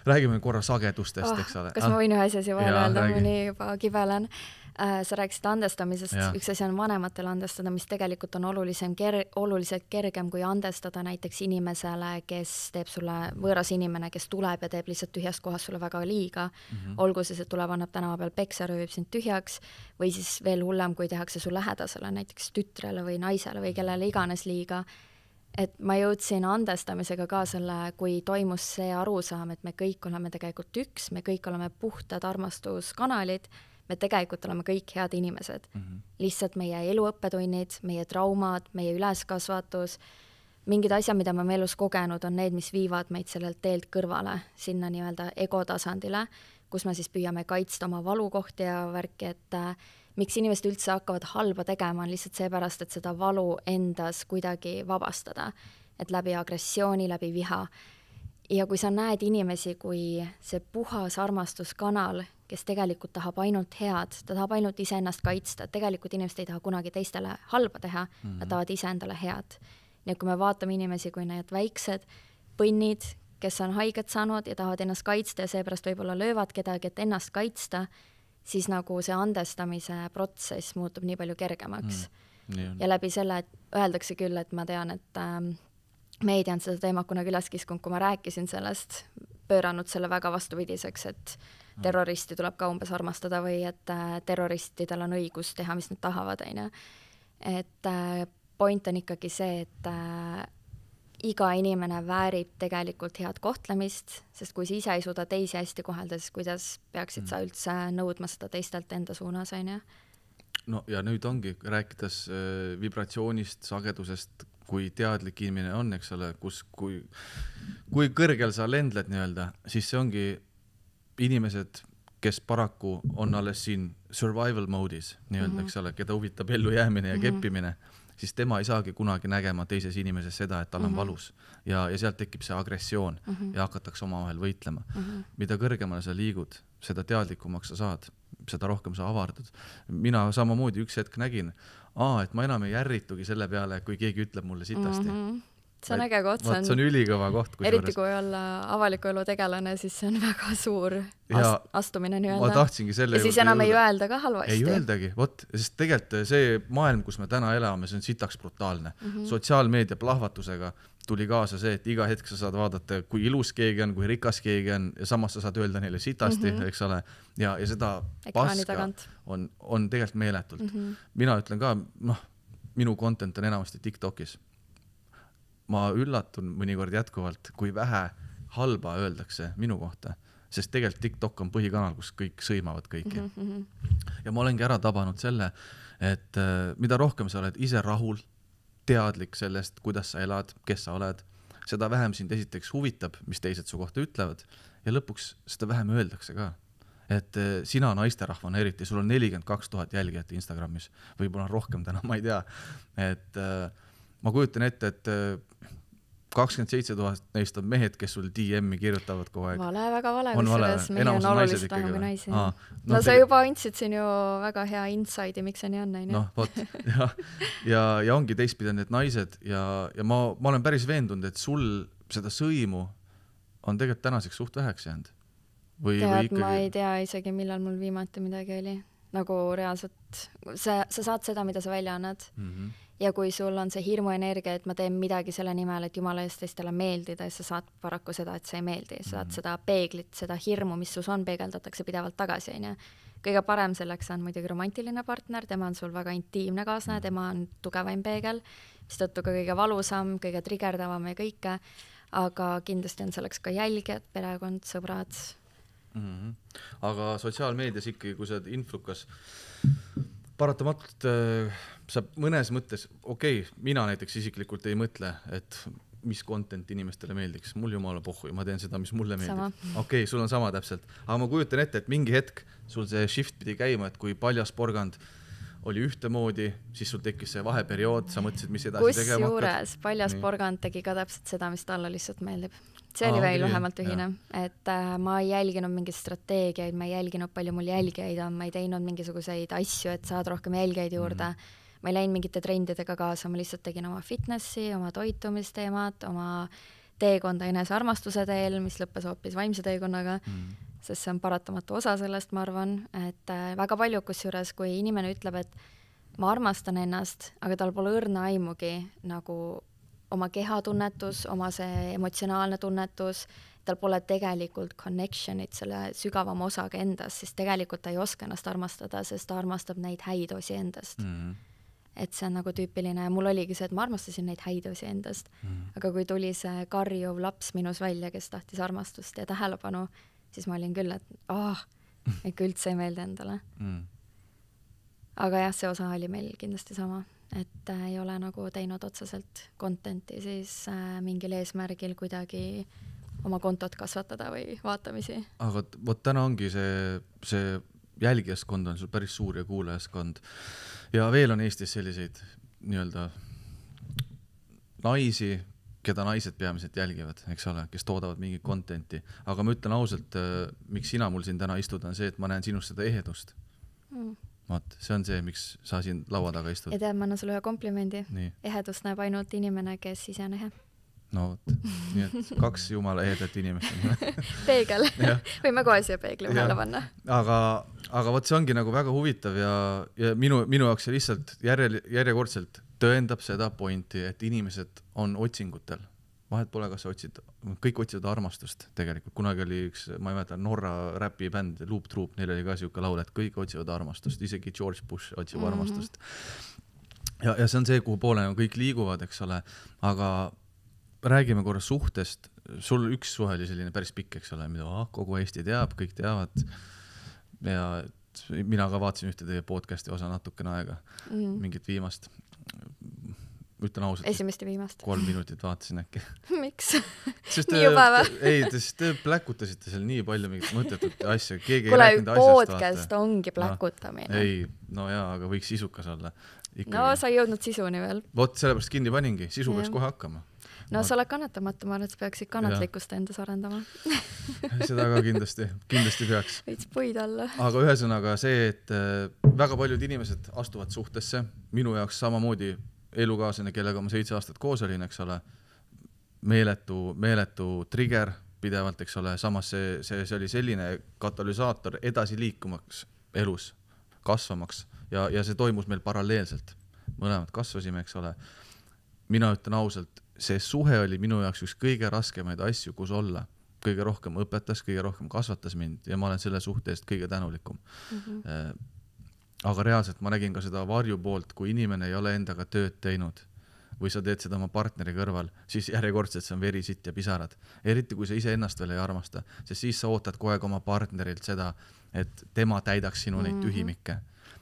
räägime korra sagedustest, eks ole. Kas ma võin ühe asja siia vahele öelda, ma nii juba kibelen. Sa rääkisid andestamisest, üks asi on vanematele andestada, mis tegelikult on oluliselt kergem kui andestada näiteks inimesele, kes teeb sulle, võõras inimene, kes tuleb ja teeb lihtsalt tühjast kohast sulle väga liiga. Olgu siis, et tuleb, annab tänava peal peksa, röövib sind tühjaks või siis veel hullem, kui tehakse su lähedasele, näiteks tütrele või naisele või kellele iganes liiga. Et ma jõudsin andestamisega ka selle, kui toimus see arusaam, et me kõik oleme tegelikult üks, me kõik oleme puhtad armastuskanalid, me tegelikult oleme kõik head inimesed. Lihtsalt meie eluõppetunnid, meie traumad, meie üleskasvatus, mingid asjad, mida me elus kogenud, on need, mis viivad meid sellelt teelt kõrvale, sinna nii-öelda ego tasandile, kus me siis püüame kaitsta oma valukohti ja värki, et miks inimesed üldse hakkavad halba tegema, on lihtsalt seepärast, et seda valu endas kuidagi vabastada, et läbi agressiooni, läbi viha. Ja kui sa näed inimesi kui see puhas armastuskanal, kes tegelikult tahab ainult head, ta tahab ainult iseennast kaitsta, tegelikult inimesed ei taha kunagi teistele halba teha, nad tahavad ise endale head. Nii et kui me vaatame inimesi kui need väiksed põnnid, kes on haiget saanud ja tahavad ennast kaitsta ja seepärast võib-olla löövad kedagi, et ennast kaitsta, siis nagu see andestamise protsess muutub nii palju kergemaks. Ja läbi selle, et öeldakse küll, et ma tean, et meedia on seda teemat kunagi üles kiskunud, kui ma rääkisin sellest, pööranud selle väga vastupidiseks, et terroristi tuleb ka umbes armastada või et terroristidel on õigus teha, mis nad tahavad. Et point on ikkagi see, et iga inimene väärib tegelikult head kohtlemist, sest kui sa ise ei suuda teisi hästi kohelda, siis kuidas peaksid sa üldse nõudma seda teistelt enda suunas, on ju? No ja nüüd ongi, rääkides vibratsioonist, sagedusest, kui teadlik inimene on, eks ole, kui kõrgel sa lendled nii-öelda, siis see ongi inimesed, kes paraku on alles siin survival mode'is, nii-öelda, eks ole, keda huvitab ellu jäämine ja keppimine, siis tema ei saagi kunagi nägema teises inimeses seda, et tal on valus ja sealt tekib see agressioon ja hakatakse omavahel võitlema. Mida kõrgemale sa liigud, seda teadlikumaks sa saad, seda rohkem sa avardud. Mina samamoodi üks hetk nägin, et ma enam ei järritugi selle peale, kui keegi ütleb mulle sitasti. See on äge koht, see on ülikõva koht. Eriti kui olla avaliku elu tegelane, siis see on väga suur astumine nii-öelda. Ma tahtsingi selle ja siis enam ei öelda ka halvasti. Ei öeldagi, sest tegelikult see maailm, kus me täna elame, see on sitaks brutaalne. Sotsiaalmeedia plahvatusega tuli kaasa see, et iga hetk sa saad vaadata, kui ilus keegi on, kui rikas keegi on ja samas sa saad öelda neile sitasti, eks ole, ja seda paska on tegelikult meeletult. Mina ütlen ka, minu content on enamasti TikTokis. Ma üllatun mõnikord jätkuvalt, kui vähe halba öeldakse minu kohta, sest tegelikult TikTok on põhikanal, kus kõik sõimavad kõiki. Ja ma olengi ära tabanud selle, et mida rohkem sa oled ise rahul, teadlik sellest, kuidas sa elad, kes sa oled, seda vähem sind esiteks huvitab, mis teised su kohta ütlevad ja lõpuks seda vähem öeldakse ka. Et sina naisterahvana eriti, sul on 42 000 jälgijat Instagramis, võib-olla rohkem täna, ma ei tea, et ma kujutan ette, et 27 000 neist on mehed, kes sul DM-i kirjutavad kogu aeg. Vale, väga vale, kusjuures mehe on oluliselt vähem kui naisi. No sa juba andsid siin ju väga hea inside'i, miks see nii on, näin. Vot, ja ongi teistpidi need naised ja ma olen päris veendunud, et sul seda sõimu on tegelikult tänaseks suht väheks jäänud. Ma ei tea isegi, millal mul viimati midagi oli. Nagu reaalselt, sa saad seda, mida sa välja annad. Ja kui sul on see hirmuenergia, et ma teen midagi selle nimel, et jumala eest teistele meeldida, ja sa saad paraku seda, et see ei meeldi. Sa saad seda peeglit, seda hirmu, mis sus on, peegeldatakse pidevalt tagasi. Kõige parem selleks on muidugi romantiline partner, tema on sul väga intiimne kaasne, tema on tugevaim peegel, mis tõttu ka kõige valusam, kõige trigerdavam ja kõike, aga kindlasti on selleks ka jälgijad, perekond, sõbrad. Aga sotsiaalmeedias ikkagi, kui sa oled influkas, paratamatult sa mõnes mõttes, mina näiteks isiklikult ei mõtle, et mis content inimestele meeldiks. Mul jumala pohhui, ma teen seda, mis mulle meeldib. Sul on sama täpselt. Aga ma kujutan ette, et mingi hetk sul see shift pidi käima, et kui paljas porgand oli ühtemoodi, siis sul tekkis see vaheperiood, sa mõtlesid, mis edasi tegema hakkad. Kusjuures paljas porgand tegi ka täpselt seda, mis talle lihtsalt meeldib. See oli veel vähemalt ühine, et ma ei jälginud mingeid strateegiaid, ma ei jälginud palju mul jälgijaid on, ma ei teinud mingisuguseid asju, et saad rohkem jälgijaid juurde. Ma ei läinud mingite trendidega kaasa, ma lihtsalt tegin oma fitnessi, oma toitumisteemat, oma teekonda enesearmastuse teel, mis lõppes hoopis vaimse teekonnaga, sest see on paratamatu osa sellest, ma arvan, et väga palju kusjuures, kui inimene ütleb, et ma armastan ennast, aga tal pole õrna aimugi nagu oma kehatunnetus, oma see emotsionaalne tunnetus, tal pole tegelikult connectionit selle sügavama osaga endast, siis tegelikult ta ei oska ennast armastada, sest ta armastab neid häid osi endast. Et see on nagu tüüpiline, mul oligi see, et ma armastasin neid häid osi endast, aga kui tuli see karjuv laps minus välja, kes tahtis armastust ja tähelepanu, siis ma olin küll, et ikka üldse ei meeldi endale. Aga jah, see osa oli meil kindlasti sama. Et ei ole nagu teinud otseselt contenti siis mingil eesmärgil kuidagi oma kontot kasvatada või vaatamisi. Aga vot täna ongi see jälgijaskond on sul päris suur ja kuulajaskond. Ja veel on Eestis selliseid nii-öelda naisi, keda naised peamiselt jälgivad, eks ole, kes toodavad mingi contenti. Aga ma ütlen ausalt, miks sina mul siin täna istuda, on see, et ma näen sinust seda ehedust. See on see, miks sa siin laua taga istud. Ja tead, ma annan sulle ühe komplimendi. Ehedust näeb ainult inimene, kes ise on ehe. No vot, nii et 2 jumala ehedat inimest. Peegel. Võime kohe siia peegli vahele panna. Aga vot see ongi nagu väga huvitav ja minu jaoks see lihtsalt järjekordselt tõendab seda pointi, et inimesed on otsingutel. Vahet pole, kas kõik otsivad armastust tegelikult. Kunagi oli üks, ma ei mäleta, Norra räpibänd, Loop Troop, neil oli ka siuke laul, et kõik otsivad armastust, isegi George Bush otsib armastust. Ja see on see, kuhu poole kõik liiguvad, eks ole, aga räägime korra suhtest. Sul üks suhe oli selline päris pikk, eks ole, mida kogu Eesti teab, kõik teavad. Ja mina ka vaatasin ühte teie podcasti osa natukene aega, mingit viimast. ütlen ausalt. Esimest ja viimast. 3 minutit vaatasin äkki. Miks? Nii juba või? Ei, te pläkutasite seal nii palju mingit mõttetut asja. Keegi Kule, ei rääkinud asjast. podcast ongi pläkutamine. No, ei, no jaa, aga võiks sisukas olla. Ikkagi. No, sa ei jõudnud sisuni veel. Vot, sellepärast kinni paningi. Sisu peaks kohe hakkama. No, sa oled kannatamatu, ma arvan, et sa peaksid kannatlikkust endas arendama. Seda ka kindlasti peaks. Võids puid alla. Aga ühesõnaga see, et väga paljud inimesed astuvad suhtesse. Minu jaoks samamoodi elukaaslane, kellega ma 7 aastat koos olin, eks ole, meeletu trigger pidevalt, eks ole, samas see oli selline katalüsaator edasi liikumaks elus, kasvamaks ja see toimus meil paralleelselt. Mõlemad kasvasime, eks ole. Mina ütlen ausalt, see suhe oli minu jaoks üks kõige raskemaid asju, kus olla. Kõige rohkem õpetas, kõige rohkem kasvatas mind ja ma olen selle suhte eest kõige tänulikum. Aga reaalselt ma nägin ka seda varju poolt, kui inimene ei ole endaga tööd teinud või sa teed seda oma partneri kõrval, siis järjekordselt see on veri, sitt ja pisarad. Eriti kui sa ise ennast veel ei armasta, sest siis sa ootad kogu aeg oma partnerilt seda, et tema täidaks sinu neid tühimikke.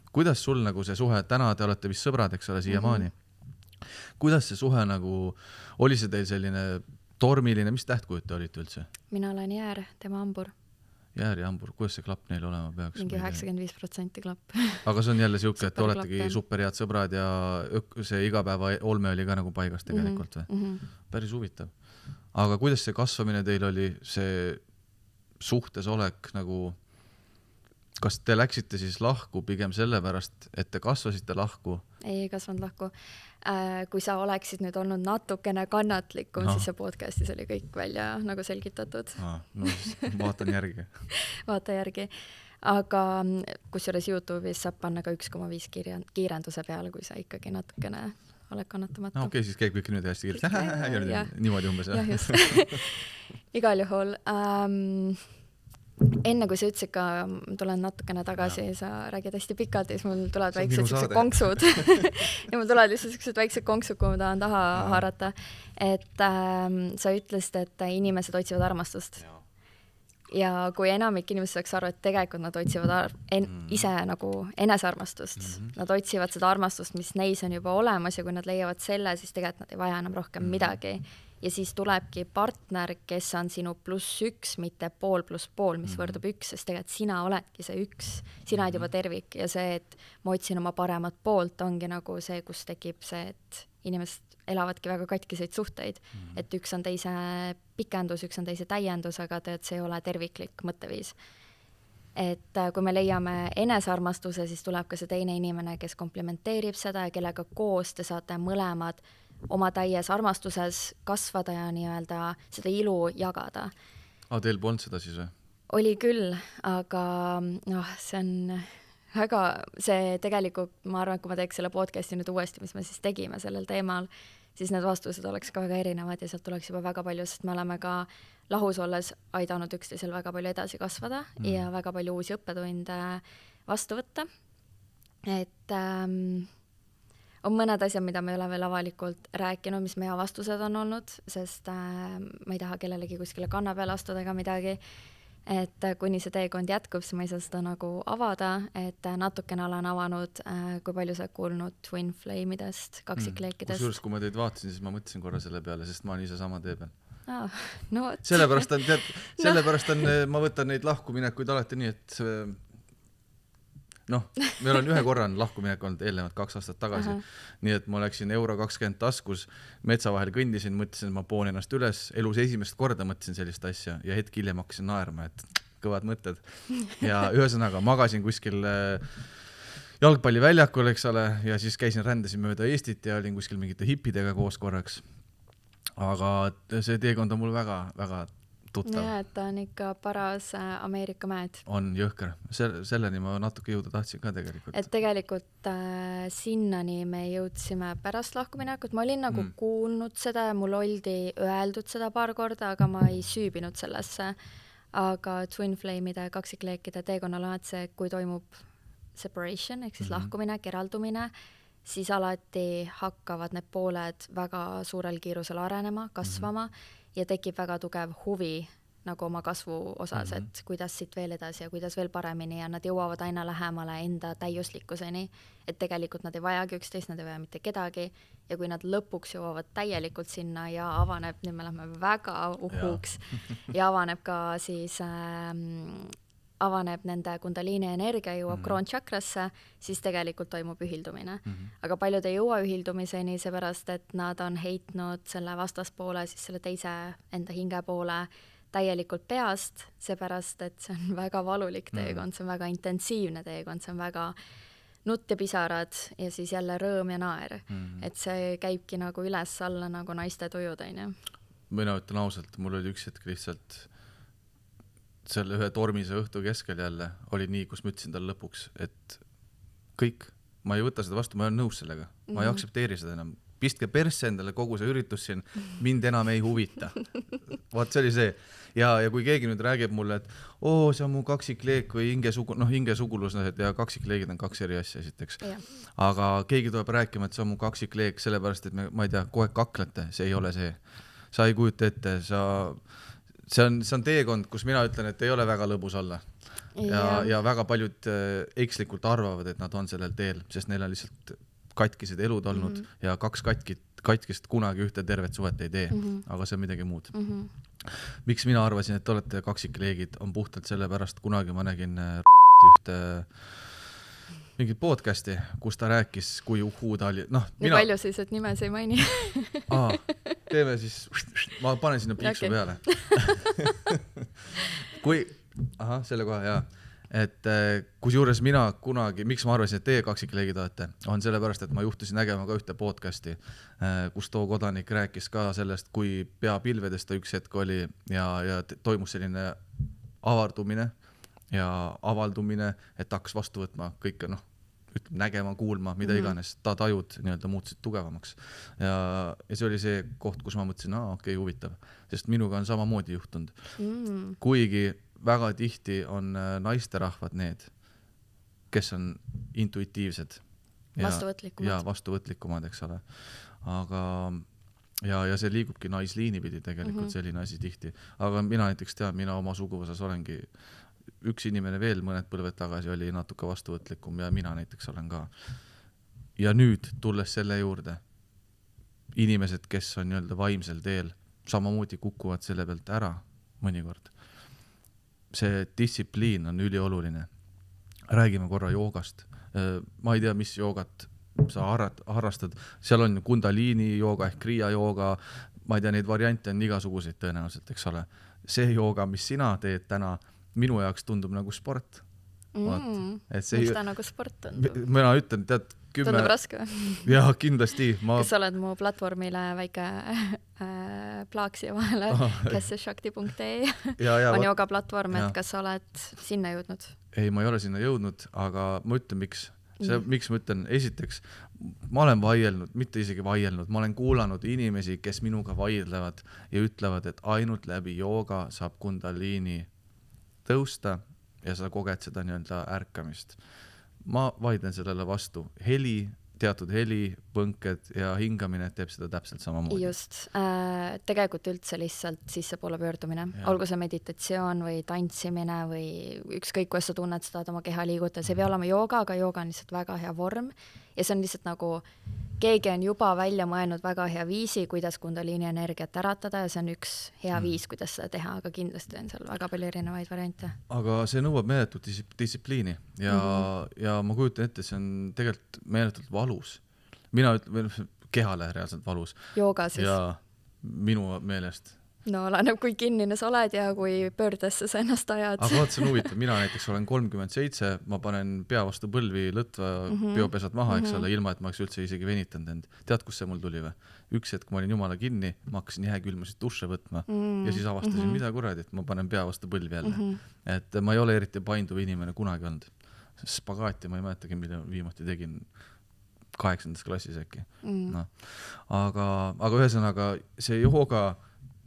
Kuidas sul nagu see suhe, täna te olete vist sõbrad, eks ole, siiamaani. Kuidas see suhe nagu, oli see teil selline tormiline, mis tähtkujud te olite üldse? Mina olen Jäär, tema Hambur. Jäär ja Hambur, kuidas see klapp neil olema peaks? Mingi 95% klapp. Aga see on jälle siuke, et oletegi superhead sõbrad ja see igapäeva olme oli ka nagu paigas tegelikult või? Päris huvitav. Aga kuidas see kasvamine teil oli, see suhtes olek nagu, kas te läksite siis lahku pigem sellepärast, et te kasvasite lahku? Ei kasvanud lahku. Kui sa oleksid nüüd olnud natukene kannatlikum, siis see podcastis oli kõik välja nagu selgitatud. No vaatan järgi. Vaata järgi. Aga kusjuures YouTube'is saab panna ka 1,5 kiirenduse peale, kui sa ikkagi natukene oled kannatamatu. Okei, siis käib kõik nüüd hästi kiirelt. Niimoodi umbes. Jah, just. Igal juhul. Enne kui sa ütlesid ka, tulen natukene tagasi, sa räägid hästi pikalt ja siis mul tulevad väiksed konksud. Ja mul tulevad lihtsalt väiksed konksud, kui ma tahan taha haarata. Et sa ütlesid, et inimesed otsivad armastust. Ja kui enamik inimesed saaks aru, et tegelikult nad otsivad ise nagu enesearmastust. Nad otsivad seda armastust, mis neis on juba olemas ja kui nad leiavad selle, siis tegelikult nad ei vaja enam rohkem midagi. Ja siis tulebki partner, kes on sinu +1, mitte pool + pool, mis võrdub 1, sest tegelikult sina oledki see 1, sina oled juba tervik ja see, et ma otsin oma paremat poolt, ongi nagu see, kus tekib see, et inimesed elavadki väga katkiseid suhteid, et üks on teise pikendus, üks on teise täiendus, aga see ei ole terviklik mõtteviis. Et kui me leiame enesearmastuse, siis tuleb ka see teine inimene, kes komplementeerib seda ja kellega koos te saate mõlemad oma täies armastuses kasvada ja nii-öelda seda ilu jagada. Teil polnud seda siis või? Oli küll, aga see on väga, see tegelikult, ma arvan, kui ma teeks selle podcasti nüüd uuesti, mis me siis tegime sellel teemal, siis need vastused oleks ka väga erinevad ja sealt tuleks juba väga palju, sest me oleme ka lahus olles aidanud üksteisel väga palju edasi kasvada ja väga palju uusi õppetunde vastu võtta. Et on mõned asjad, mida me ei ole veel avalikult rääkinud, mis meie vastused on olnud, sest ma ei taha kellelegi kuskile kanna peale astuda ega midagi, et kuni see teekond jätkub, siis ma ei saa seda nagu avada, et natukene olen avanud, kui palju sa kuulnud Twin Flame'idest, kaksikleekidest. Kusjuures, kui ma teid vaatasin, siis ma mõtlesin korra selle peale, sest ma olen ise sama tee peal. No, sellepärast on, ma võtan neid lahkuminekuid alati nii, et meil on ühe korran lahkuminek olnud eelnevad 2 aastat tagasi. Nii et ma läksin €20 taskus, metsa vahel kõndisin, mõtlesin, et ma poon ennast üles. Elus esimest korda mõtlesin sellist asja ja hetk hiljem hakkasin naerma, et kõvad mõtted. Ja ühesõnaga magasin kuskil jalgpalliväljakul, eks ole, ja siis rändasin mööda Eestit ja olin kuskil mingite hippidega koos korraks. Aga see teekond on mul väga tuttav. Ja, et ta on ikka paras Ameerika mäed. On jõhker. Selleni ma natuke jõuda tahtsin ka tegelikult. Et tegelikult sinnani me jõudsime pärast lahkuminekut. Ma olin nagu kuulnud seda ja mul oldi öeldud seda paar korda, aga ma ei süübinud sellesse. Aga Twin Flame'ide kaksikleekide teekonnal on see, kui toimub separation, ehk siis lahkuminek, eraldumine, siis alati hakkavad need pooled väga suurel kiirusel arenema, kasvama ja tekib väga tugev huvi nagu oma kasvu osas, et kuidas siit veel edasi ja kuidas veel paremini ja nad jõuavad aina lähemale enda täiuslikkuseni, et tegelikult nad ei vajagi üksteist, nad ei vaja mitte kedagi ja kui nad lõpuks jõuavad täielikult sinna ja avaneb, nüüd me lähme väga uhuks ja avaneb ka siis avaneb nende kundaliini energia, jõuab kroonchakrasse, siis tegelikult toimub ühildumine. Aga paljud ei jõua ühildumiseni, seepärast, et nad on heitnud selle vastaspoole, siis selle teise enda hinge poole täielikult peast, seepärast, et see on väga valulik teekond, see on väga intensiivne teekond, see on väga nutt ja pisarad ja siis jälle rõõm ja naer. Et see käibki nagu üles-alla nagu naiste tujud, on ju. Mina ütlen ausalt, mul oli üks hetk lihtsalt selle ühe tormise õhtu keskel jälle oli nii, kus ma ütlesin tal lõpuks, et kõik, ma ei võta seda vastu, ma olen nõus sellega, ma ei aktsepteeri seda enam. Pistke persse endale kogu see üritus siin, mind enam ei huvita. Vaat see oli see. Ja kui keegi nüüd räägib mulle, et see on mu kaksikleek või hingesugulus ja kaksikleegid on kaks eri asja esiteks. Aga keegi tuleb rääkima, et see on mu kaksikleek, sellepärast, et ma ei tea, kogu aeg kaklete, see ei ole see. Sa ei kujuta ette, see on teekond, kus mina ütlen, et ei ole väga lõbus olla. Ja väga paljud ekslikult arvavad, et nad on sellel teel, sest neil on lihtsalt katkised elud olnud ja kaks katkist kunagi ühte tervet suhet ei tee, aga see on midagi muud. Miks mina arvasin, et te olete kaksikleegid, on puhtalt sellepärast, kunagi ma nägin ühte mingit podcasti, kus ta rääkis, kui ta oli. Nii palju siis, et nimes ei maini. Teeme siis, ma panen sinna piiksu peale. Selle koha, jaa. Et kusjuures mina kunagi, miks ma arvasin, et teie kaksikleegid olete, on sellepärast, et ma juhtusin nägema ka ühte podcasti, kus too kodanik rääkis ka sellest, kui pea pilvedest ta üks hetk oli ja toimus selline avardumine ja avaldumine, et hakkas vastu võtma kõike, nägema, kuulma, mida iganes, ta tajud nii-öelda muutusid tugevamaks. Ja see oli see koht, kus ma mõtlesin, okei, huvitav, sest minuga on samamoodi juhtunud. Kuigi väga tihti on naisterahvad need, kes on intuitiivsed. Ja vastuvõtlikumad, eks ole. Aga ja see liigubki naisliini pidi tegelikult selline asi tihti. Aga mina näiteks tean, mina oma suguvõsas olengi üks inimene veel mõned põlved tagasi oli natuke vastuvõtlikum ja mina näiteks olen ka. Ja nüüd tulles selle juurde, inimesed, kes on nii-öelda vaimsel teel, samamoodi kukuvad selle pealt ära mõnikord. See distsipliin on ülioluline. Räägime korra joogast. Ma ei tea, mis joogat sa harrastad. Seal on kundaliini jooga ehk kriia jooga. Ma ei tea, neid variante on igasuguseid tõenäoliselt, eks ole. See jooga, mis sina teed täna, minu jaoks tundub nagu sport. Miks ta nagu sport tundub? Mina ütlen, tead, Tundub raske või? Jaa, kindlasti. Kas sa oled mu platvormile väike plaaksi vahele, kesseshakti.ee on jooga platvorm, et kas sa oled sinna jõudnud? Ei, ma ei ole sinna jõudnud, aga ma ütlen, miks. Miks ma ütlen, esiteks, ma olen vaielnud, mitte isegi vaielnud, ma olen kuulanud inimesi, kes minuga vaidlevad ja ütlevad, et ainult läbi jooga saab kundaliini tõusta ja sa koged seda nii-öelda ärkamist. Ma vaidlen sellele vastu. Teatud heli, põnked ja hingamine teeb seda täpselt samamoodi. Just. Tegelikult üldse lihtsalt sissepoole pöördumine. Olgu see meditatsioon või tantsimine või ükskõik, kuidas sa tunned seda oma keha liiguta. See ei pea olema jooga, aga jooga on lihtsalt väga hea vorm. Ja see on lihtsalt nagu, keegi on juba välja mõelnud väga hea viisi, kuidas kundaliini energiat äratada ja see on üks hea viis, kuidas seda teha, aga kindlasti on seal väga palju erinevaid variante. Aga see nõuab meeletut distsipliini ja ma kujutan ette, see on tegelikult meeletult valus. Mina ütlen, kehale reaalselt valus. Jooga siis? Ja minu meelest. No oleneb, kui kinnine sa oled ja kui pöördesse sa ennast ajad. Aga vaat see on huvitav, mina näiteks olen 37, ma panen pea vastu põlvi lõtva biopesad maha, eks ole, ilma et ma oleks üldse isegi venitanud end. Tead, kus see mul tuli või? Üks hetk ma olin jumala kinni, ma hakkasin jääkülmasid duše võtma ja siis avastasin, mida kuradi, et ma panen pea vastu põlvi jälle. Et ma ei ole eriti painduv inimene kunagi olnud. Spagaati ma ei mäletagi, mida viimati tegin 8. klassis äkki. Aga ühesõnaga see jooga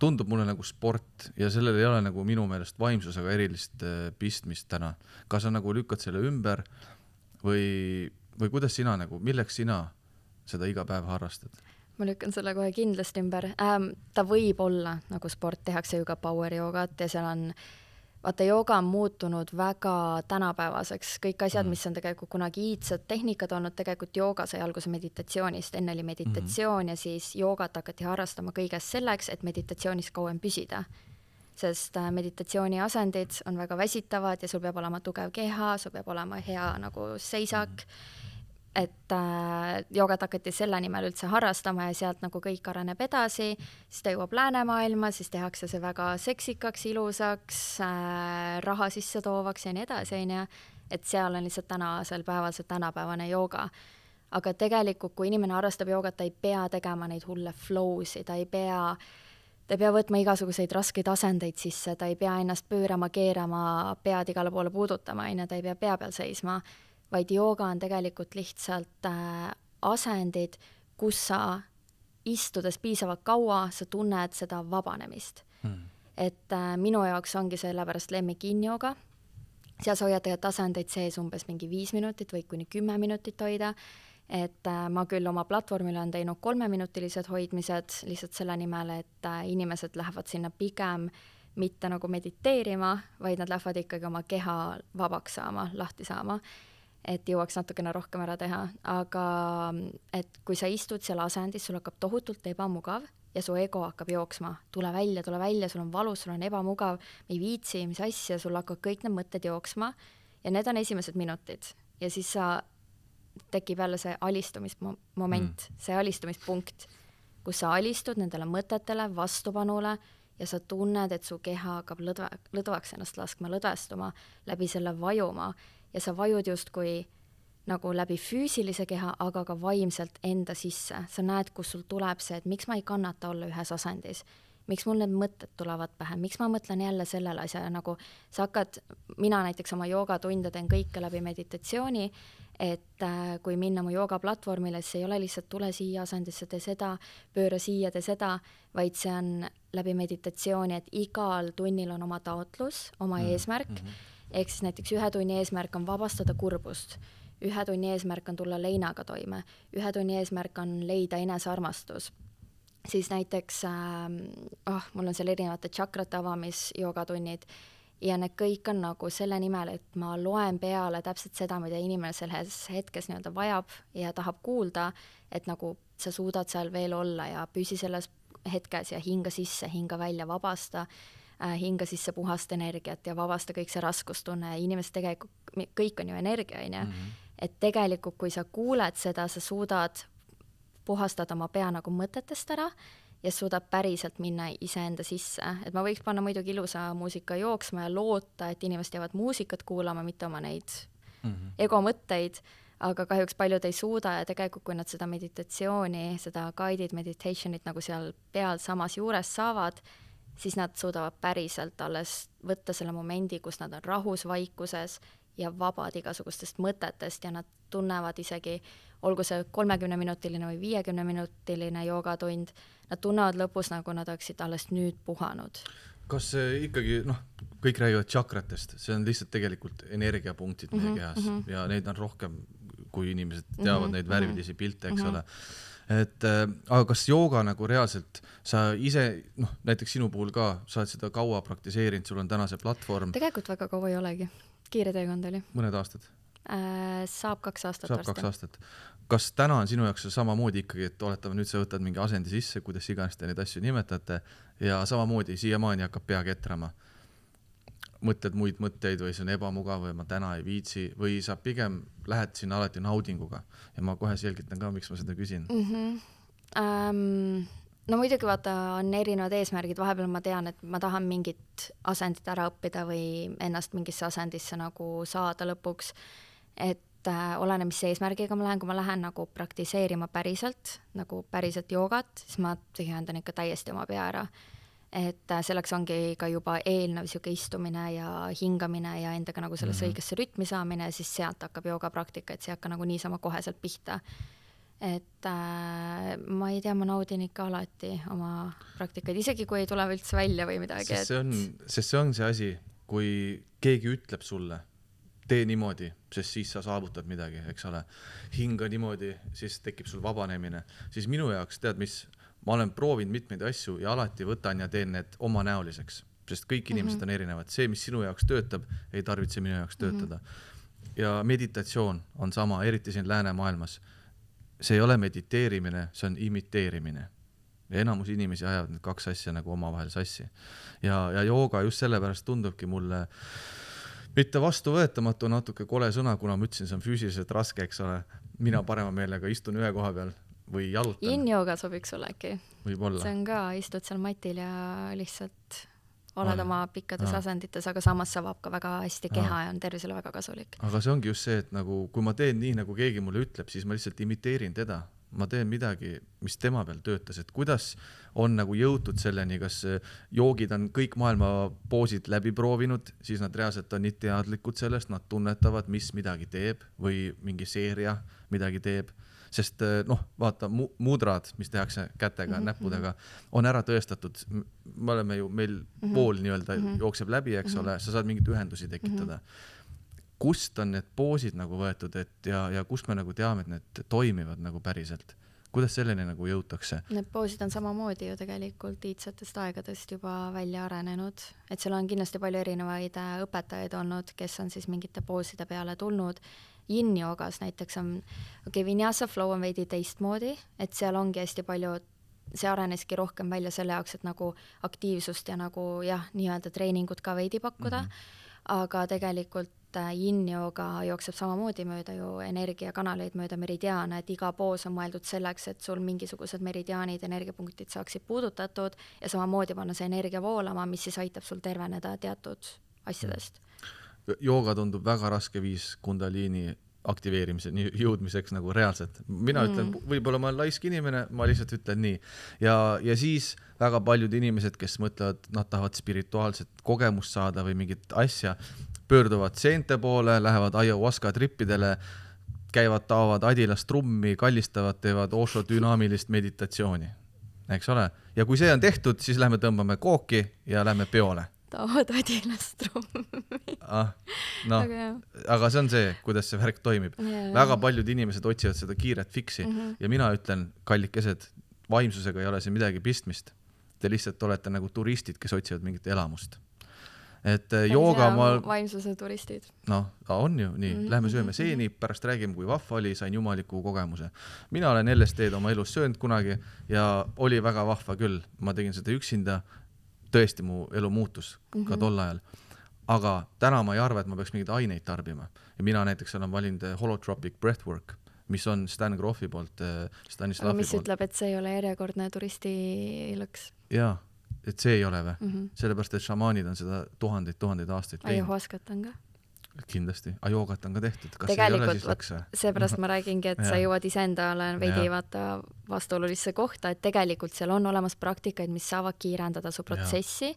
tundub mulle nagu sport ja sellel ei ole nagu minu meelest vaimsusega erilist pistmist täna. Kas sa nagu lükkad selle ümber või kuidas sina nagu, milleks sina seda iga päev harrastad? ma lükkan selle kohe kindlasti ümber. Ta võib olla nagu sport, tehakse ju ka power joogat ja seal on, vaata, jooga on muutunud väga tänapäevaseks. Kõik asjad, mis on tegelikult kunagi iidsed tehnikad olnud, tegelikult jooga sai alguse meditatsioonist. Enne oli meditatsioon ja siis joogat hakati harrastama kõigest selleks, et meditatsioonis kauem püsida. Sest meditatsiooni asendid on väga väsitavad ja sul peab olema tugev keha, sul peab olema hea nagu seisak. Et joogat hakati selle nimel üldse harrastama ja sealt nagu kõik areneb edasi, siis ta jõuab läänemaailma, siis tehakse see väga seksikaks, ilusaks, raha sisse toovaks ja nii edasi, et seal on lihtsalt tänasel päeval see tänapäevane jooga. Aga tegelikult, kui inimene harrastab joogat, ta ei pea tegema neid hulle flowsi, ta ei pea võtma igasuguseid raskeid asendeid sisse, ta ei pea ennast pöörama, keerama, pead igale poole puudutama, ta ei pea pea peal seisma, vaid jooga on tegelikult lihtsalt asendid, kus sa istudes piisavalt kaua, sa tunned seda vabanemist. Et minu jaoks ongi sellepärast lemmik yin-jooga. Seal sa hoiad tegelikult asendeid sees umbes mingi 5 minutit või kuni 10 minutit hoida. Et ma küll oma platvormile on teinud 3-minutilised hoidmised lihtsalt selle nimel, et inimesed lähevad sinna pigem mitte nagu mediteerima, vaid nad lähevad ikkagi oma keha vabaks saama, lahti saama, et jõuaks natukene rohkem ära teha. Aga et kui sa istud seal asendis, sul hakkab tohutult ebamugav ja su ego hakkab jooksma. Tule välja, sul on valus, sul on ebamugav, me ei viitsi, mis asja, sul hakkab kõik need mõtted jooksma ja need on esimesed minutid. Ja siis tekib jälle see alistumismoment, see alistumispunkt, kus sa alistud nendele mõtetele, vastupanule ja sa tunned, et su keha hakkab lõdvaks ennast laskma, lõdvestuma, läbi selle vajuma ja sa vajud justkui nagu läbi füüsilise keha, aga ka vaimselt enda sisse. Sa näed, kus sul tuleb see, et miks ma ei kannata olla ühes asendis, miks mul need mõtted tulevad pähe, miks ma mõtlen jälle sellele asja, nagu sa hakkad, mina näiteks oma joogatunde teen kõike läbi meditatsiooni, et kui minna mu joogaplatvormile, siis ei ole lihtsalt tule siia asendisse, tee seda, pööra siia, tee seda, vaid see on läbi meditatsiooni, et igal tunnil on oma taotlus, oma eesmärk, ehk siis näiteks 1 tunni eesmärk on vabastada kurbust, 1 tunni eesmärk on tulla leinaga toime, 1 tunni eesmärk on leida enesearmastus. Siis näiteks, mul on seal erinevate tšakrate avamisjoogatunnid ja need kõik on nagu selle nimel, et ma loen peale täpselt seda, mida inimene selles hetkes nii-öelda vajab ja tahab kuulda, et nagu sa suudad seal veel olla ja püsi selles hetkes ja hinga sisse, hinga välja, vabasta, hinga sisse puhast energiat ja vabasta kõik see raskustunne. Inimesed tegelikult, kõik on ju energia, et tegelikult kui sa kuuled seda, sa suudad puhastada oma pea nagu mõtetest ära ja suudab päriselt minna iseenda sisse. Et ma võiks panna muidugi ilusa muusika jooksma ja loota, et inimesed jäävad muusikat kuulama, mitte oma neid egomõtteid, aga kahjuks paljud ei suuda ja tegelikult kui nad seda meditatsiooni, seda guided meditationit nagu seal peal samas juures saavad, siis nad suudavad päriselt alles võtta selle momendi, kus nad on rahus, vaikuses ja vabad igasugustest mõtetest ja nad tunnevad isegi, olgu see 30-minutiline või 50-minutiline joogatund, nad tunnevad lõpus, nagu nad oleksid alles nüüd puhanud. Kas ikkagi, kõik räägivad tšakratest, see on lihtsalt tegelikult energiapunktid meie kehas ja neid on rohkem, kui inimesed teavad neid värvilisi pilte, eks ole. Et, aga kas jooga nagu reaalselt, sa ise, näiteks sinu puhul ka, sa oled seda kaua praktiseerinud, sul on täna see platvorm. Tegelikult väga kaua ei olegi, kiire teekond oli. Mõned aastad? Saab 2 aastat. Saab 2 aastat. Kas täna on sinu jaoks samamoodi ikkagi, et oletame nüüd sa võtad mingi asendi sisse, kuidas iganes te neid asju nimetate ja samamoodi siiamaani hakkab pea ketrama? Mõtled muid mõtteid või see on ebamugav või ma täna ei viitsi või sa pigem lähed sinna alati naudinguga ja ma kohe selgitan ka, miks ma seda küsin. No muidugi vaata, on erinevad eesmärgid, vahepeal ma tean, et ma tahan mingit asendit ära õppida või ennast mingisse asendisse nagu saada lõpuks, et oleneb, mis eesmärgiga ma lähen, kui ma lähen nagu praktiseerima päriselt, nagu päriselt joogat, siis ma tühjendan ikka täiesti oma pea ära. Et selleks ongi ka juba eelnev siuke istumine ja hingamine ja endaga nagu selles õigesse rütmi saamine, siis sealt hakkab joogapraktika, et see hakka nagu niisama koheselt pihta. Et ma ei tea, ma naudin ikka alati oma praktikaid, isegi kui ei tule üldse välja või midagi. Sest see on see asi, kui keegi ütleb sulle, tee niimoodi, sest siis sa saavutad midagi, eks ole. Hinga niimoodi, siis tekib sul vabanemine. Siis minu jaoks, tead mis, ma olen proovinud mitmeid asju ja alati võtan ja teen need omanäoliseks, sest kõik inimesed on erinevad. See, mis sinu jaoks töötab, ei tarvitse minu jaoks töötada. Ja meditatsioon on sama, eriti siin läänemaailmas. See ei ole mediteerimine, see on imiteerimine. Ja enamus inimesi ajavad need kaks asja nagu omavahel sassi. Ja jooga just sellepärast tundubki mulle mitte vastuvõetamatu, natuke kole sõna, kuna ma ütlesin, see on füüsiliselt raske, eks ole. Mina parema meelega istun ühe koha peal või jalutan. Yin-jooga sobiks sulle äkki. Võib-olla. See on ka, istud seal matil ja lihtsalt oled oma pikkades asendites, aga samas saab ka väga hästi keha ja on tervisele väga kasulik. Aga see ongi just see, et nagu, kui ma teen nii, nagu keegi mulle ütleb, siis ma lihtsalt imiteerin teda. Ma teen midagi, mis tema peal töötas, et kuidas on nagu jõutud selleni, kas joogid on kõik maailma poosid läbi proovinud, siis nad reaalselt on nii teadlikud sellest, nad tunnetavad, mis midagi teeb või mingi seeria midagi teeb. Sest vaata, mudrad, mis tehakse kätega, näppudega, on ära tõestatud. Me oleme ju, meil vool nii-öelda jookseb läbi, eks ole, sa saad mingid ühendusi tekitada. Kust on need poosid nagu võetud ja kust me nagu teame, et need toimivad nagu päriselt? Kuidas selleni nagu jõutakse? Need poosid on samamoodi ju tegelikult iidsetest aegadest juba välja arenenud, et seal on kindlasti palju erinevaid õpetajaid olnud, kes on siis mingite pooside peale tulnud. Yin-joogas näiteks on, Vinyasa flow on veidi teistmoodi, et seal ongi hästi palju, see areneski rohkem välja selle jaoks, et nagu aktiivsust ja nagu nii-öelda treeningut ka veidi pakkuda, aga tegelikult Yin-jooga jookseb samamoodi mööda ju energiakanaleid mööda meridiaane, et iga poos on mõeldud selleks, et sul mingisugused meridiaanid, energiapunktid saaksid puudutatud ja samamoodi panna see energia voolama, mis siis aitab sul terveneda teatud asjadest. Jooga tundub väga raske viis kundaliini aktiveerimise jõudmiseks nagu reaalselt. Mina ütlen, võib-olla ma olen laisk inimene, ma lihtsalt ütlen nii. Ja siis väga paljud inimesed, kes mõtlevad, nad tahavad spirituaalset kogemust saada või mingit asja, pöörduvad seente poole, lähevad ayahuasca trippidele, käivad, taovad adilast trummi, kallistavad, teevad Osho dünaamilist meditatsiooni. Eks ole? Ja kui see on tehtud, siis lähme tõmbame kooki ja lähme peole. Taovad adilast trummi. Aga see on see, kuidas see värk toimib. Väga paljud inimesed otsivad seda kiiret fiksi ja mina ütlen, kallikesed, vaimsusega ei ole see midagi pistmist. Te lihtsalt olete nagu turistid, kes otsivad mingit elamust. Et jooga vaimsuse turistid. On ju nii. Lähme sööme seeni, pärast räägime, kui vahva oli, sain jumaliku kogemuse. Mina olen LSD-d oma elus söönud kunagi ja oli väga vahva küll. Ma tegin seda üksinda, tõesti mu elu muutus ka tol ajal. Aga täna ma ei arva, et ma peaks mingeid aineid tarbima. Ja mina näiteks olen valinud holotropic breathwork, mis on Stan Groffi poolt, Stanislavi poolt. Mis ütleb, et see ei ole järjekordne turisti lõks? Jaa. Et see ei ole või? Sellepärast, et šamaanid on seda tuhandeid aastaid teinud. Ayahuascat on ka? Kindlasti. Ajoogat on ka tehtud. Kas tegelikult, seepärast ma räägingi, et sa jõuad iseendale veidi vaata vastuolulisse kohta, et tegelikult seal on olemas praktikaid, mis saavad kiirendada su protsessi,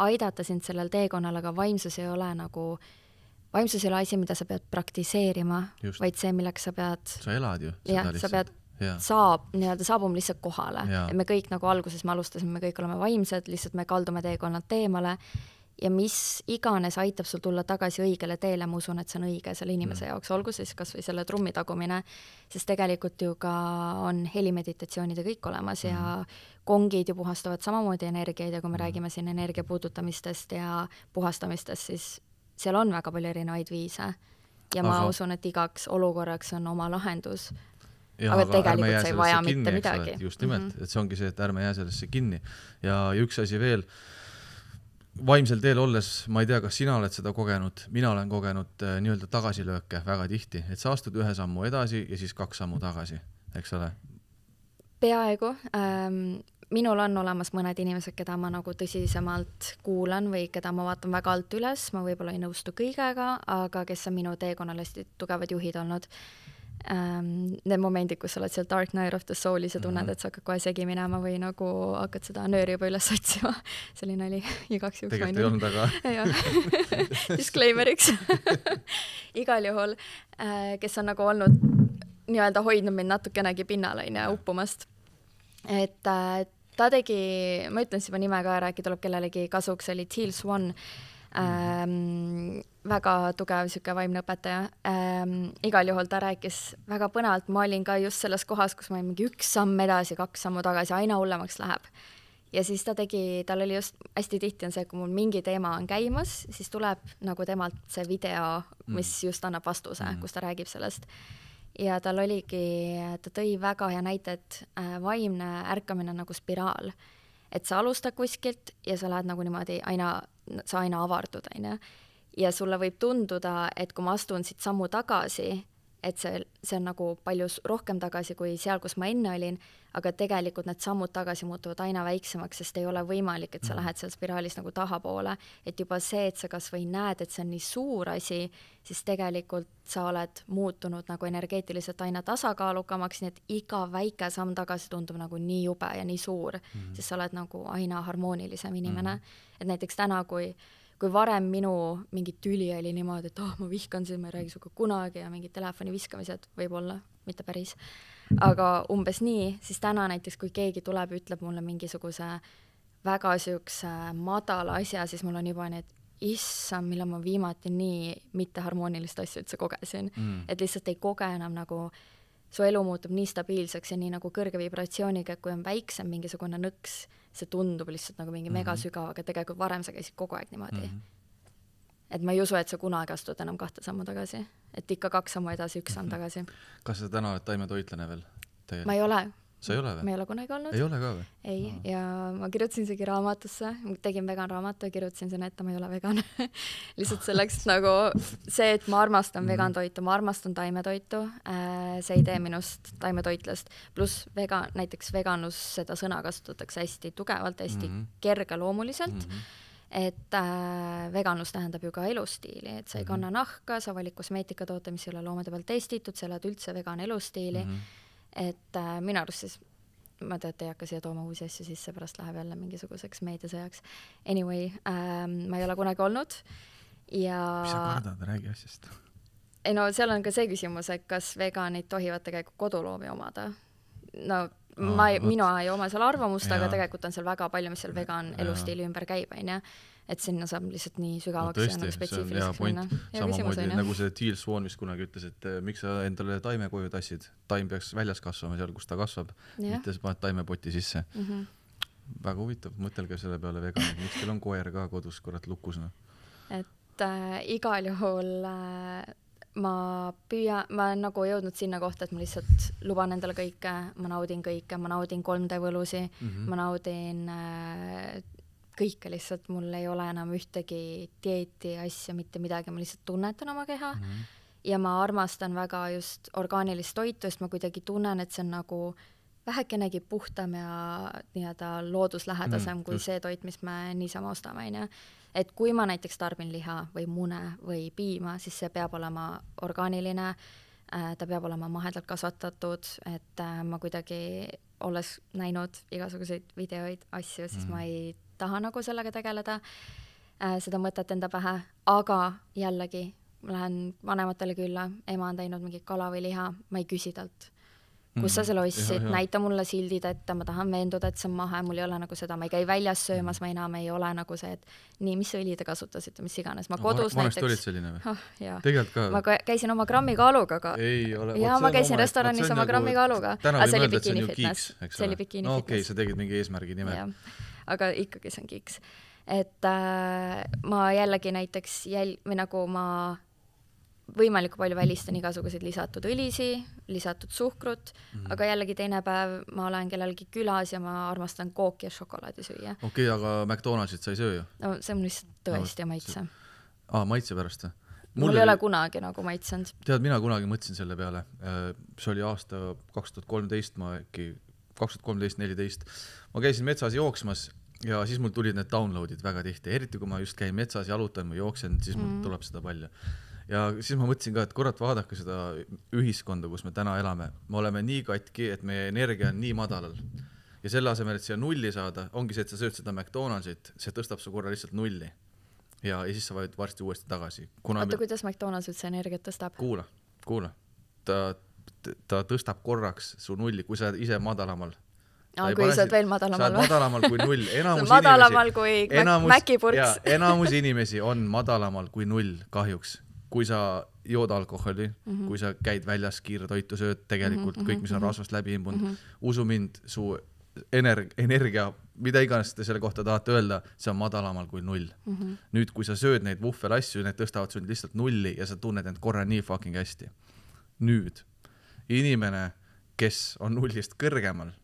aidata sind sellel teekonnal, aga vaimsus ei ole asi, mida sa pead praktiseerima, vaid see, milleks sa pead... Sa elad ju. Sa pead saabum lihtsalt kohale. Ja me kõik nagu alguses me alustasime, me kõik oleme vaimsed, lihtsalt me kaldume teekonnalt teemale ja mis iganes aitab sul tulla tagasi õigele teele, ma usun, et see on õige selle inimese jaoks, olgu siis kas või selle trummi tagumine, sest tegelikult ju ka on helimeditatsioonid ja kõik olemas ja kongid ju puhastavad samamoodi energiaid ja kui me räägime siin energia puudutamistest ja puhastamistest, siis seal on väga palju erinevaid viise ja ma usun, et igaks olukorraks on oma lahendus. Aga tegelikult sa ei vaja mitte midagi. Just nimelt, et see ongi see, et ärme jää sellesse kinni. Ja üks asi veel, vaimsel teel olles, ma ei tea, kas sina oled seda kogenud, mina olen kogenud nii-öelda tagasilööke väga tihti, et sa astud ühe sammu edasi ja siis 2 sammu tagasi, eks ole? Peaaegu. Minul on olemas mõned inimesed, keda ma nagu tõsisemalt kuulan või keda ma vaatan väga alt üles, ma võib-olla ei nõustu kõigega, aga kes on minu teekonnal hästi tugevad juhid olnud. Need momendid, kus sa oled seal Dark Night of the Soulis ja tunned, et sa hakkad kohe segi minema või nagu hakkad seda nööri juba üles otsima. Selline oli igaks juhuks. Tegelikult ei olnud aga. Disclaimeriks. Igal juhul, kes on nagu olnud nii-öelda hoidnud mind natukenegi pinnale uppumast. Et ta tegi, ma ütlen siis juba nime ka ära, äkki tuleb kellelegi kasuks, oli Teal Swan. väga tugev siuke vaimne õpetaja. Igal juhul ta rääkis väga põnevalt, ma olin ka just selles kohas, kus ma olin mingi 1 samm edasi, 2 sammu tagasi, aina hullemaks läheb. Ja siis tal oli just hästi tihti on see, kui mul mingi teema on käimas, siis tuleb nagu temalt see video, mis just annab vastuse, kus ta räägib sellest. Ja tal oligi, ta tõi väga hea näite, et vaimne ärkamine on nagu spiraal. Et sa alustad kuskilt ja sa lähed nagu niimoodi sa aina avardud, aina. Ja sulle võib tunduda, et kui ma astun siit sammu tagasi, et see on nagu palju rohkem tagasi kui seal, kus ma enne olin, aga tegelikult need sammud tagasi muutuvad aina väiksemaks, sest ei ole võimalik, et sa lähed seal spiraalis nagu tahapoole. Et juba see, et sa kas või näed, et see on nii suur asi, siis tegelikult sa oled muutunud nagu energeetiliselt aina tasakaalukamaks, nii et iga väike samm tagasi tundub nagu nii jube ja nii suur, sest sa oled nagu aina harmoonilisem inimene. Et näiteks täna, kui varem minu mingi tüli oli niimoodi, et ma vihkan siin, ma ei räägi suga kunagi ja mingid telefoni viskamised võib-olla, mitte päris. Aga umbes nii, siis täna näiteks, kui keegi tuleb, ütleb mulle mingisuguse väga siukse madala asja, siis mul on juba need issam, millal ma viimati nii mitteharmoonilist asja üldse kogesin. Et lihtsalt ei koge enam nagu, su elu muutub nii stabiilseks ja nii nagu kõrge vibratsiooniga, kui on väiksem mingisugune nõks, see tundub lihtsalt nagu mingi mega sügav, aga tegelikult varem sa käisid kogu aeg niimoodi. Et ma ei usu, et sa kunagi astud enam 2 sammu tagasi. Et ikka 2 sammu edasi, 1 samm tagasi. Kas sa täna oled taimetoitlane veel? Ma ei ole. Sa ei ole või? Ma ei ole kunagi olnud. Ei ole ka või? Ei, ja ma kirjutasin isegi raamatusse, tegin vegan raamatu ja kirjutasin sinna, et ma ei ole vegan. Lihtsalt selleks nagu see, et ma armastan vegan toitu, ma armastan taimetoitu, see ei tee minust taimetoitlast. Pluss näiteks veganus, seda sõna kasutatakse hästi tugevalt, hästi kergeloomuliselt. Et veganus tähendab ju ka elustiili, et sa ei kanna nahka, sa valid kosmeetikatoote, mis ei ole loomade peal testitud, sa elad üldse vegan elustiili. Et minu arust siis, ma tead, ei hakka siia tooma uusi asju sisse, pärast läheb jälle mingisuguseks meediasõjaks. Anyway, ma ei ole kunagi olnud ja... Mis sa kardad, räägi asjast? Ei no, seal on ka see küsimus, et kas veganid tohivad tegelikult koduloomi omada. No, minu ei oma seal arvamust, aga tegelikult on seal väga palju, mis seal vegan elustiili ümber käib, ja. Et sinna saab lihtsalt nii sügavaks ja nagu spetsiifiliseks minna. Samamoodi nagu see Teal Swan vist kunagi ütles, et miks sa endale taime koju tassid, taim peaks väljas kasvama seal, kus ta kasvab, mitte sa paned taimepoti sisse. Väga huvitav, mõtelge selle peale veganid, miks teil on koer ka kodus kurat lukus? Et igal juhul ma olen nagu jõudnud sinna kohta, et ma lihtsalt luban endale kõike, ma naudin 3D võlusi, ma naudin kõike lihtsalt, mul ei ole enam ühtegi dieeti asja, mitte midagi, ma lihtsalt tunnetan oma keha ja ma armastan väga just orgaanilist toitu, sest ma kuidagi tunnen, et see on nagu vähekenegi puhtam ja nii-öelda looduslähedasem kui see toit, mis me niisama ostame. Et kui ma näiteks tarbin liha või mune või piima, siis see peab olema orgaaniline, ta peab olema mahedalt kasvatatud, et ma kuidagi olles näinud igasuguseid videoid, asju, siis ma ei taha nagu sellega tegeleda, seda mõtet enda pähe, aga jällegi ma lähen vanematele külla, ema on teinud mingi kala või liha, ma ei küsi talt. Kus sa selle ostsid, näita mulle sildid ette, ma tahan veenduda, et see on mahe, mul ei ole nagu seda, ma ei käi väljas söömas, ma enam ei ole nagu see, et nii, mis õli te kasutasite, mis iganes. Ma kodus vanasti olid selline või? Tegelikult ka? Ma käisin oma grammi kaaluga, aga ja ma käisin restoranis oma grammi kaaluga. Täna võime öelda, et see on ju kiiks, eks ole? No okei, sa tegid mingi eesmärgi nimel. Aga ikkagi see on kiiks. Et ma jällegi näiteks või nagu ma võimalikult palju välistan igasuguseid lisatud õlisi, lisatud suhkrut, aga jällegi teine päev ma olen kellelgi külas ja ma armastan kooki ja šokolaadi süüa. Okei, aga McDonaldsit sa ei söö ju? No see on lihtsalt tõesti maitse. Maitse pärast? Mul ei ole kunagi nagu maitsenud. Tead, mina kunagi mõtlesin selle peale. See oli aasta 2013, ma äkki 2013-14. Ma käisin metsas jooksmas ja siis mul tulid need downloadid väga tihti. Eriti kui ma just käin metsas, jalutan või jooksen, siis mul tuleb seda palju. Ja siis ma mõtlesin ka, et kurat vaadake seda ühiskonda, kus me täna elame. Me oleme nii katki, et meie energia on nii madalal. Ja selle asemel, et siia nulli saada, ongi see, et sa sööd seda McDonaldsit, see tõstab su korra lihtsalt nulli. Ja siis sa võid varsti uuesti tagasi. Oota, kuidas McDonalds üldse energiat tõstab? Kuula. Ta tõstab korraks su nulli, kui sa ise madalamal. kui sa oled veel madalamal või? Sa oled madalamal kui 0. Madalamal kui Mäkipurks. Enamus inimesi on madalamal kui 0 kahjuks. Kui sa jood alkoholi, kui sa käid väljas kiirtoitu sööd, tegelikult kõik, mis on rasvast läbi imbunud, usu mind, su energia, mida iganes te selle kohta tahate öelda, see on madalamal kui 0. Nüüd, kui sa sööd neid vuhvelasju, need tõstavad sul lihtsalt 0 ja sa tunned end korra nii fucking hästi. Nüüd, inimene, kes on 0-st kõrgemal,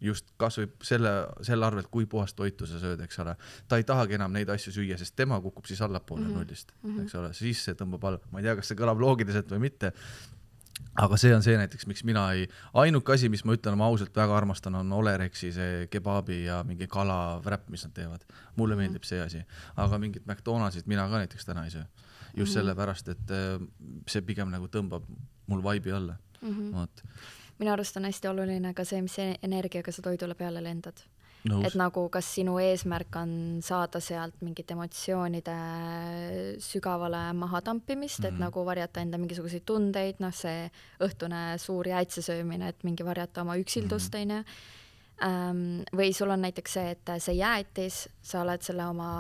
just kas või selle arvelt, kui puhast toitu sa sööd, eks ole. Ta ei tahagi enam neid asju süüa, sest tema kukub siis allapoole 0-st, eks ole. Siis see tõmbab alla. Ma ei tea, kas see kõlab loogiliselt või mitte. Aga see on see näiteks, miks mina ainuke asi, mis ma ütlen, ma ausalt väga armastan, on Olerexi see kebabi ja mingi kala wrap, mis nad teevad. Mulle meeldib see asi. Aga mingit McDonald'sit mina ka näiteks täna ei söö. Just sellepärast, et see pigem nagu tõmbab mul vibe'i alla. Minu arust on hästi oluline ka see, mis energiaga sa toidule peale lendad. Et nagu kas sinu eesmärk on saada sealt mingit emotsioonide sügavale mahatampimist, et nagu varjata enda mingisuguseid tundeid, see õhtune suur jäätisesöömine, et mingi varjata oma üksildust, või sul on näiteks see, et see jäätis, sa oled selle oma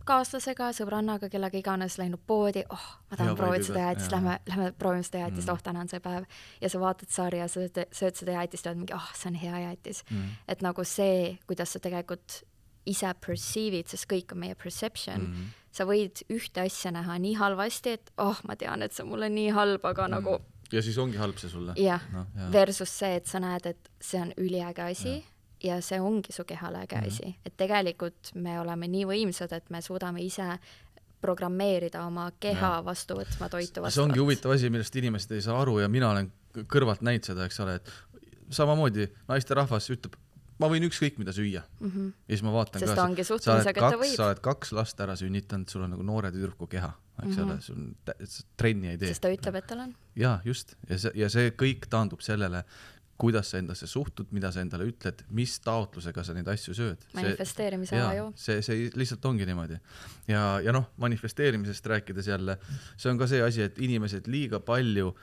kaaslasega, sõbrannaga, kellega iganes läinud poodi, ma tahan proovida seda jäätist, lähme proovime seda jäätist, täna on see päev. Ja sa vaatad sarja, sa sööd seda jäätist ja oled mingi, see on hea jäätis. Et nagu see, kuidas sa tegelikult ise perceive'id, sest kõik on meie perception, sa võid ühte asja näha nii halvasti, et ma tean, et see on mulle nii halb, aga nagu... Ja siis ongi halb see sulle. Jah, versus see, et sa näed, et see on üliäge asi, ja see ongi su kehale äge asi. Et tegelikult me oleme nii võimsad, et me suudame ise programmeerida oma keha vastu võtma toitu vastu. See ongi huvitav asi, millest inimesed ei saa aru ja mina olen kõrvalt näinud seda, eks ole, et samamoodi naiste rahvas ütleb, ma võin ükskõik mida süüa. Ja siis ma vaatan sest ka, sa oled 2 last ära sünnitanud, sul on nagu noore tüdruku keha, eks ole, sul trenni ei tee. Sest ta ütleb, et tal on. Ja, just. Ja see kõik taandub sellele, kuidas sa endasse suhtud, mida sa endale ütled, mis taotlusega sa neid asju sööd. Manifesteerimise aju. See lihtsalt ongi niimoodi. Ja manifesteerimisest rääkides jälle, see on ka see asi, et inimesed liiga palju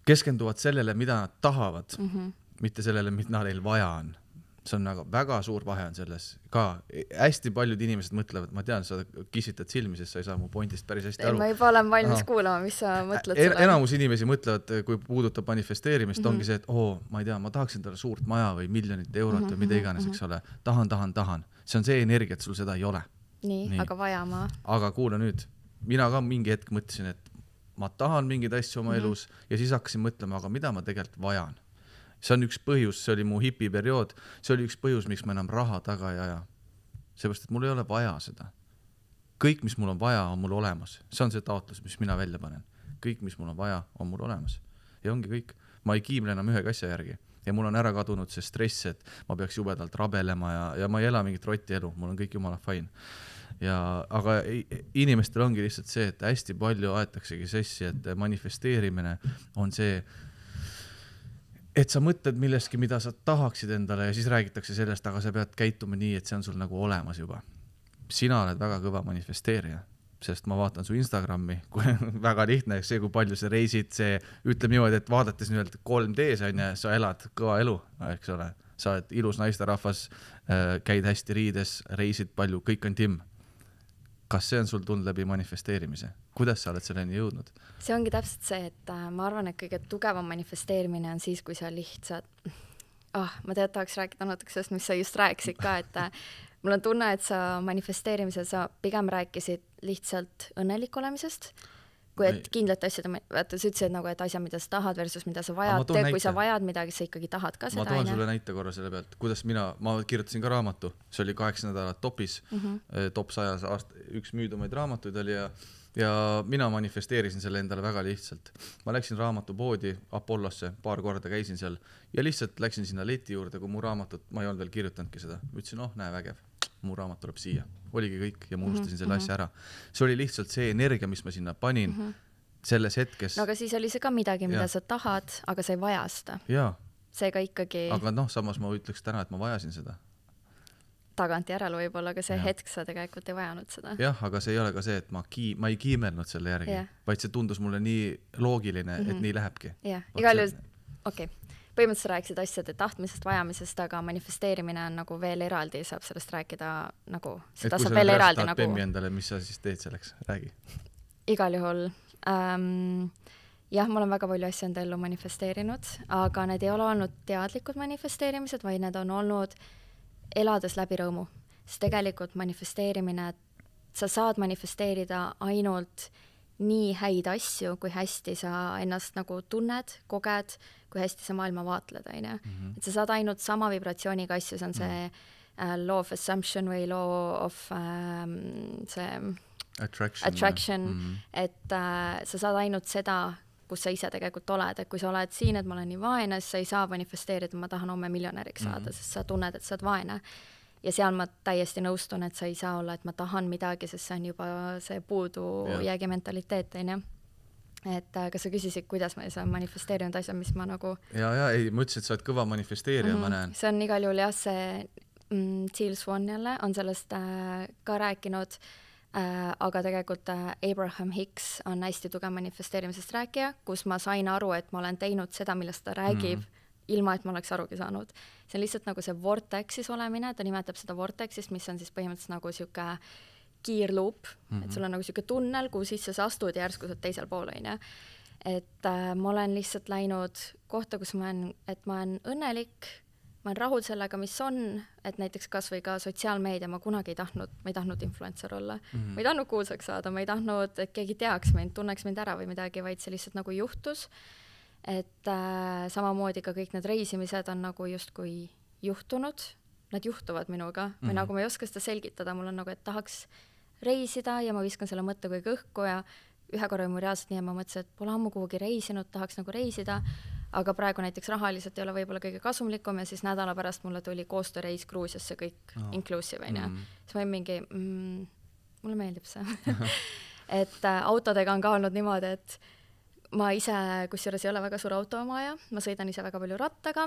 keskenduvad sellele, mida nad tahavad, mitte sellele, mida neil vaja on. See on väga suur vahe on selles ka. Hästi paljud inimesed mõtlevad, ma tean, sa kissitad silmi, sest sa ei saa mu pointist päris hästi aru. Ma juba olen valmis kuulama, mis sa mõtled selle. Enamus inimesi mõtlevad, kui puudutab manifesteerimist, ongi see, et ma ei tea, ma tahaksin talle suurt maja või miljonit eurot või mida iganes, eks ole. Tahan. See on see energia, et sul seda ei ole. Nii. Aga vaja ma. Aga kuula nüüd, mina ka mingi hetk mõtlesin, et ma tahan mingeid asju oma elus ja siis hakkasin mõtlema, aga mida ma tegelikult vajan. See on üks põhjus, see oli mu hipiperiood, see oli üks põhjus, miks ma enam raha taga ei aja. Seepärast, et mul ei ole vaja seda. Kõik, mis mul on vaja, on mul olemas. See on see taotlus, mis mina välja panen. Kõik, mis mul on vaja, on mul olemas. Ja ongi kõik. Ma ei kiimle enam ühe asja järgi. Ja mul on ära kadunud see stress, et ma peaks jubedalt rabelema ja ma ei ela mingit rotti elu. Mul on kõik jumala fine. Aga inimestel ongi lihtsalt see, et hästi palju aetaksegi sessi, et manifesteerimine on see, et sa mõtled millestki, mida sa tahaksid endale ja siis räägitakse sellest, aga sa pead käituma nii, et see on sul nagu olemas juba. Sina oled väga kõva manifesteerija, sest ma vaatan su Instagrami, väga lihtne, see, kui palju sa reisid, see ütleb niimoodi, et vaadates 3D's on ja sa elad kõva elu, eks ole. Sa oled ilus naisterahvas, käid hästi riides, reisid palju, kõik on timm. Kas see on sul tulnud läbi manifesteerimise? Kuidas sa oled selleni jõudnud? See ongi täpselt see, et ma arvan, et kõige tugevam manifesteerimine on siis, kui sa lihtsalt... ma tahaks rääkida natuke sellest, mis sa just rääkisid ka, et mul on tunne, et sa manifesteerimisel sa pigem rääkisid lihtsalt õnnelik olemisest, kui et kindlate asjad, vaata, sa ütlesid nagu, et asjad, mida sa tahad versus mida sa vajad, kui sa vajad midagi, sa ikkagi tahad ka seda. Ma toon sulle näite korra selle pealt, kuidas ma kirjutasin ka raamatu, see oli 8 nädalat topis, top 100 üks müüdumaid raamatuid oli ja mina manifesteerisin selle endale väga lihtsalt. Ma läksin raamatupoodi Apollosse, paar korda käisin seal ja lihtsalt läksin sinna leti juurde, kui mu raamatut, ma ei olnud veel kirjutanudki seda, ütlesin, näe vägev, mu raamat tuleb siia. Oligi kõik ja ma unustasin selle asja ära. See oli lihtsalt see energia, mis ma sinna panin selles hetkes. No aga siis oli see ka midagi, mida sa tahad, aga sa ei vaja seda. Seega ikkagi... Aga samas ma ütleks täna, et ma vajasin seda. Tagantjärele võib-olla, aga see hetk sa tegelikult ei vajanud seda. Jah, aga see ei ole ka see, et ma ei kiimelnud selle järgi, vaid see tundus mulle nii loogiline, et nii lähebki. Igal juhul, okei. põhimõtteliselt rääkisid asjade tahtmisest, vajamisest, aga manifesteerimine on nagu veel eraldi, saab sellest rääkida nagu, seda saab veel eraldi nagu. Bemmi endale, mis sa siis teed selleks? Räägi. Igal juhul. Jah, ma olen väga palju asju enda ellu manifesteerinud, aga need ei ole olnud teadlikud manifesteerimised, vaid need on olnud elades läbi rõõmu. Sest tegelikult manifesteerimine, sa saad manifesteerida ainult nii häid asju, kui hästi sa ennast nagu tunned, koged, kui hästi sa maailma vaatled, on. Et sa saad ainult sama vibratsiooniga asju, see on see law of assumption või law of see attraction, et sa saad ainult seda, kus sa ise tegelikult oled, et kui sa oled siin, et ma olen nii vaene, siis sa ei saa manifesteerida, ma tahan homme miljonäriks saada, sest sa tunned, et sa oled vaene. Ja seal ma täiesti nõustun, et sa ei saa olla, et ma tahan midagi, sest see on juba see puudujäägi mentaliteet, on. Et kas sa küsisid, kuidas ma ei saa manifesteerinud asja, mis ma nagu... ei, ma ütlesin, et sa oled kõva manifesteerija, ma näen. See on igal juhul jah, see Teal Swan jälle on sellest ka rääkinud, aga tegelikult Abraham Hicks on hästi tugev manifesteerimisest rääkija, kus ma sain aru, et ma olen teinud seda, millest ta räägib, ilma et ma oleks arugi saanud. See on lihtsalt nagu see vortexis olemine, ta nimetab seda vortexist, mis on siis põhimõtteliselt nagu siuke kiirluup, et sul on nagu siuke tunnel, kuhu sisse sa astud ja järsku sa teisel pool, on. Et ma olen lihtsalt läinud kohta, kus ma olen õnnelik, ma olen rahul sellega, mis on, et näiteks kas või ka sotsiaalmeedia, ma kunagi ei tahtnud influencer olla. Ma ei tahtnud kuulsaks saada, ma ei tahtnud, et keegi teaks mind, tunneks mind ära või midagi, vaid see lihtsalt nagu juhtus. Et samamoodi ka kõik need reisimised on nagu justkui juhtunud, nad juhtuvad minuga või nagu ma ei oska seda selgitada, mul on nagu, et tahaks reisida ja ma viskan selle mõtte kui õhku ja ühe korra mu reaalselt nii ja ma mõtlesin, et pole ammu kuhugi reisinud, tahaks nagu reisida, aga praegu näiteks rahaliselt ei ole võib-olla kõige kasumlikum ja siis nädala pärast mulle tuli koostööreis Gruusiasse kõik inclusive, siis ma mingi, mulle meeldib see. Et autodega on ka olnud niimoodi, et ma ise, kusjuures ei ole väga suur autoomaja, ma sõidan ise väga palju rattaga,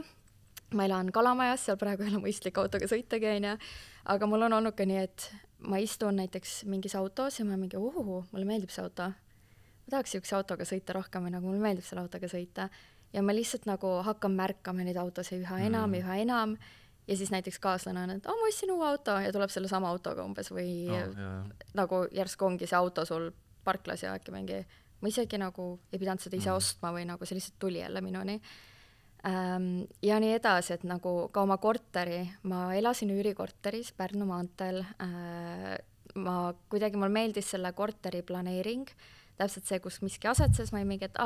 ma elan Kalamajas, seal praegu ei ole mõistlik autoga sõitagi, aga mul on olnud ka nii, et ma istun näiteks mingis autos ja ma mingi, mulle meeldib see auto. Ma tahaks siukse autoga sõita rohkem või nagu mulle meeldib selle autoga sõita ja ma lihtsalt nagu hakkan märkama neid autosid üha enam ja siis näiteks kaaslane on, et ma ostsin uue auto ja tuleb selle sama autoga umbes või nagu järsku ongi see auto sul parklas ja äkki mingi ma isegi nagu ei pidanud seda ise ostma või nagu see lihtsalt tuli jälle minuni. Ja nii edasi, et nagu ka oma korteri, ma elasin üürikorteris Pärnu maanteel, mul meeldis selle korteri planeering, täpselt see, kus miski asetses, ma ei mingi, et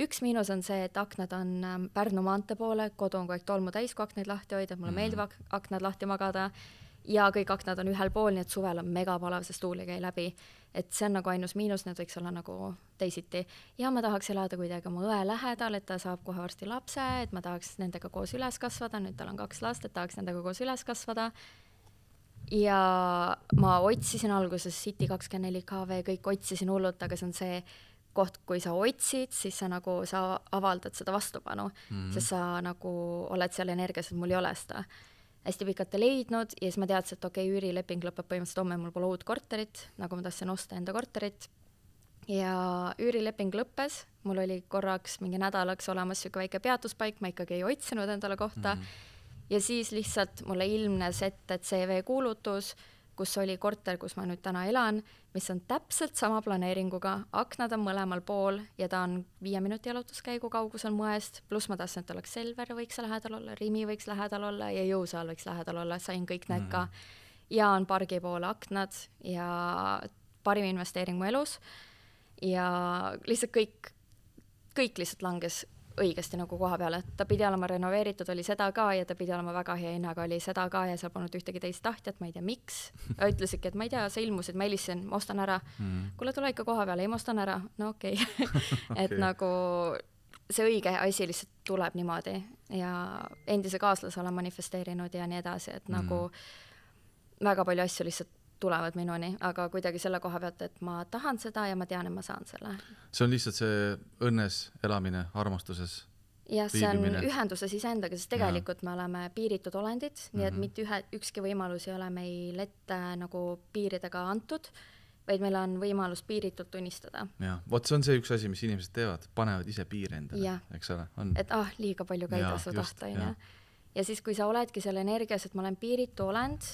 üks miinus on see, et aknad on Pärnu maantee poole, kodu on kogu aeg tolmu täis, kui aknaid lahti hoida, mulle meeldib aknad lahti magada ja kõik aknad on ühel pool, nii et suvel on mega palav, sest tuul ei käi läbi. Et see on nagu ainus miinus, need võiks olla nagu teisiti. Ja ma tahaks elada kuidagi oma õe lähedal, et ta saab kohe varsti lapse, et ma tahaks nendega koos üles kasvada, nüüd tal on 2 last, et tahaks nendega koos üles kasvada. Ja ma otsisin alguses City 24 KV, kõik otsisin hullult, aga see on see koht, kui sa otsid, siis sa avaldad seda vastupanu, sest sa nagu oled seal energias, et mul ei ole seda. Hästi pikalt ei leidnud ja siis ma teadsin, et üürileping lõpeb põhimõtteliselt homme, mul pole uut korterit, nagu ma tahtsin osta enda korterit. Ja üürileping lõppes, mul oli korraks mingi nädalaks olemas siuke väike peatuspaik, ma ikkagi ei otsinud endale kohta. Ja siis lihtsalt mulle ilmnes ette CV kuulutus, kus oli korter, kus ma nüüd täna elan, mis on täpselt sama planeeringuga, aknad on mõlemal pool ja ta on 5 minuti jalutuskäigu kaugusel Moest, pluss ma tahtsin, et oleks Selver võiks lähedal olla, Rimi võiks lähedal olla ja Jõusaal võiks lähedal olla, sain kõik need ka. Ja on pargi poole aknad ja parim investeering mu elus ja lihtsalt kõik lihtsalt langes õigesti nagu koha peale, et ta pidi olema renoveeritud, oli seda ka ja ta pidi olema väga hea hinnaga, oli seda ka ja seal polnud ühtegi teist tahtjat, ma ei tea miks. Ütlesidki, et ma ei tea, sa ilmusid, ma helistasin, ma ostan ära. Kuule, tule ikka koha peale, ei ma ostan ära. No okei. Et nagu see õige asi lihtsalt tuleb niimoodi ja endise kaaslase olen manifesteerinud ja nii edasi, et nagu väga palju asju lihtsalt tulevad minuni, aga kuidagi selle koha pealt, et ma tahan seda ja ma tean, et ma saan selle. See on lihtsalt see õnnes elamine, armastuses ja see on ühenduses iseendaga, sest tegelikult me oleme piiritud olendid, nii et mitte ükski võimalus ei ole meil ette nagu piiridega antud vaid meil on võimalus piiritult tunnistada. jah, vot see on see üks asi, mis inimesed teevad, panevad ise piire endale, ja. eks ole, on. Et liiga palju ka ei tasu tahta, on. Ja siis, kui sa oledki selle energias, et ma olen piiritu olend,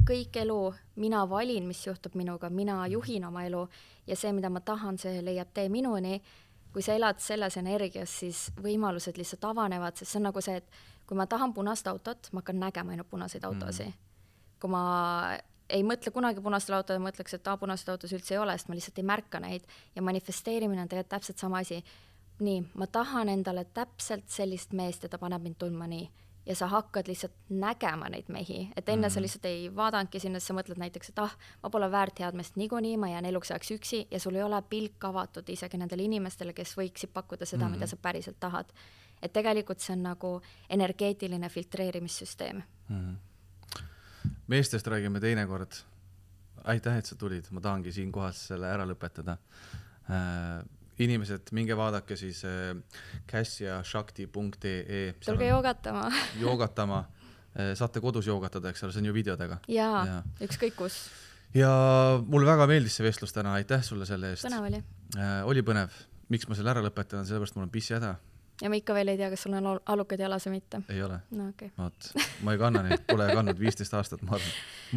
kõik elu, mina valin, mis juhtub minuga, mina juhin oma elu ja see, mida ma tahan, see leiab tee minuni. Kui sa elad selles energias, siis võimalused lihtsalt avanevad, sest see on nagu see, et kui ma tahan punast autot, ma hakkan nägema ainult punaseid autosi. Kui ma ei mõtle kunagi punastel autod, mõtleks, et punaseid autos üldse ei ole, sest ma lihtsalt ei märka neid ja manifesteerimine on tegelikult täpselt sama asi. Nii, ma tahan endale täpselt sellist meest ja ta paneb mind tundma nii. Ja sa hakkad lihtsalt nägema neid mehi, et enne sa lihtsalt ei vaadanudki sinna, sa mõtled näiteks, et ma pole väärt head meest niikuinii, ma jään eluks ajaks üksi ja sul ei ole pilk avatud isegi nendele inimestele, kes võiksid pakkuda seda, mida sa päriselt tahad. Et tegelikult see on nagu energeetiline filtreerimissüsteem. Meestest räägime teinekord. Aitäh, et sa tulid, ma tahangi siin kohas selle ära lõpetada. Inimesed, minge vaadake siis kassiashakti.ee. Tulge joogatama. Joogatama. Saate kodus joogatada, eks ole, see on ju videodega. Jaa, ükskõik kus. Ja mulle väga meeldis see vestlus täna, aitäh sulle selle eest. Põnev oli. Oli põnev. Miks ma selle ära lõpetan, sellepärast mul on pissi häda. Ja ma ikka veel ei tea, kas sul on alukad jalas või mitte. Ei ole. No, okay. Ma ei kanna neid, pole kandnud 15 aastat, ma arvan.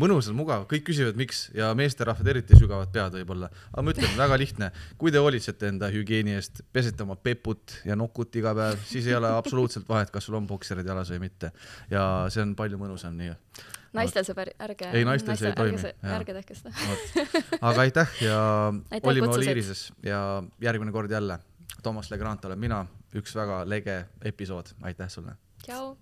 Mõnus on mugav, kõik küsivad, miks ja meesterahvad eriti sügavad pead võib-olla. Aga ma ütlen, väga lihtne, kui te hoolitsete enda hügieeni eest, pesete oma peput ja nokut iga päev, siis ei ole absoluutselt vahet, kas sul on bokserid jalas või mitte. Ja see on palju mõnusam nii. Naistel see ärge. Ei, naistel see ei toimi. Ärge tehke seda. Aga aitäh ja olime kutsusid. Oliirises ja järgmine kord jälle. Toomas Legrand olen mina, üks väga lege episood. Aitäh sulle. Tšau.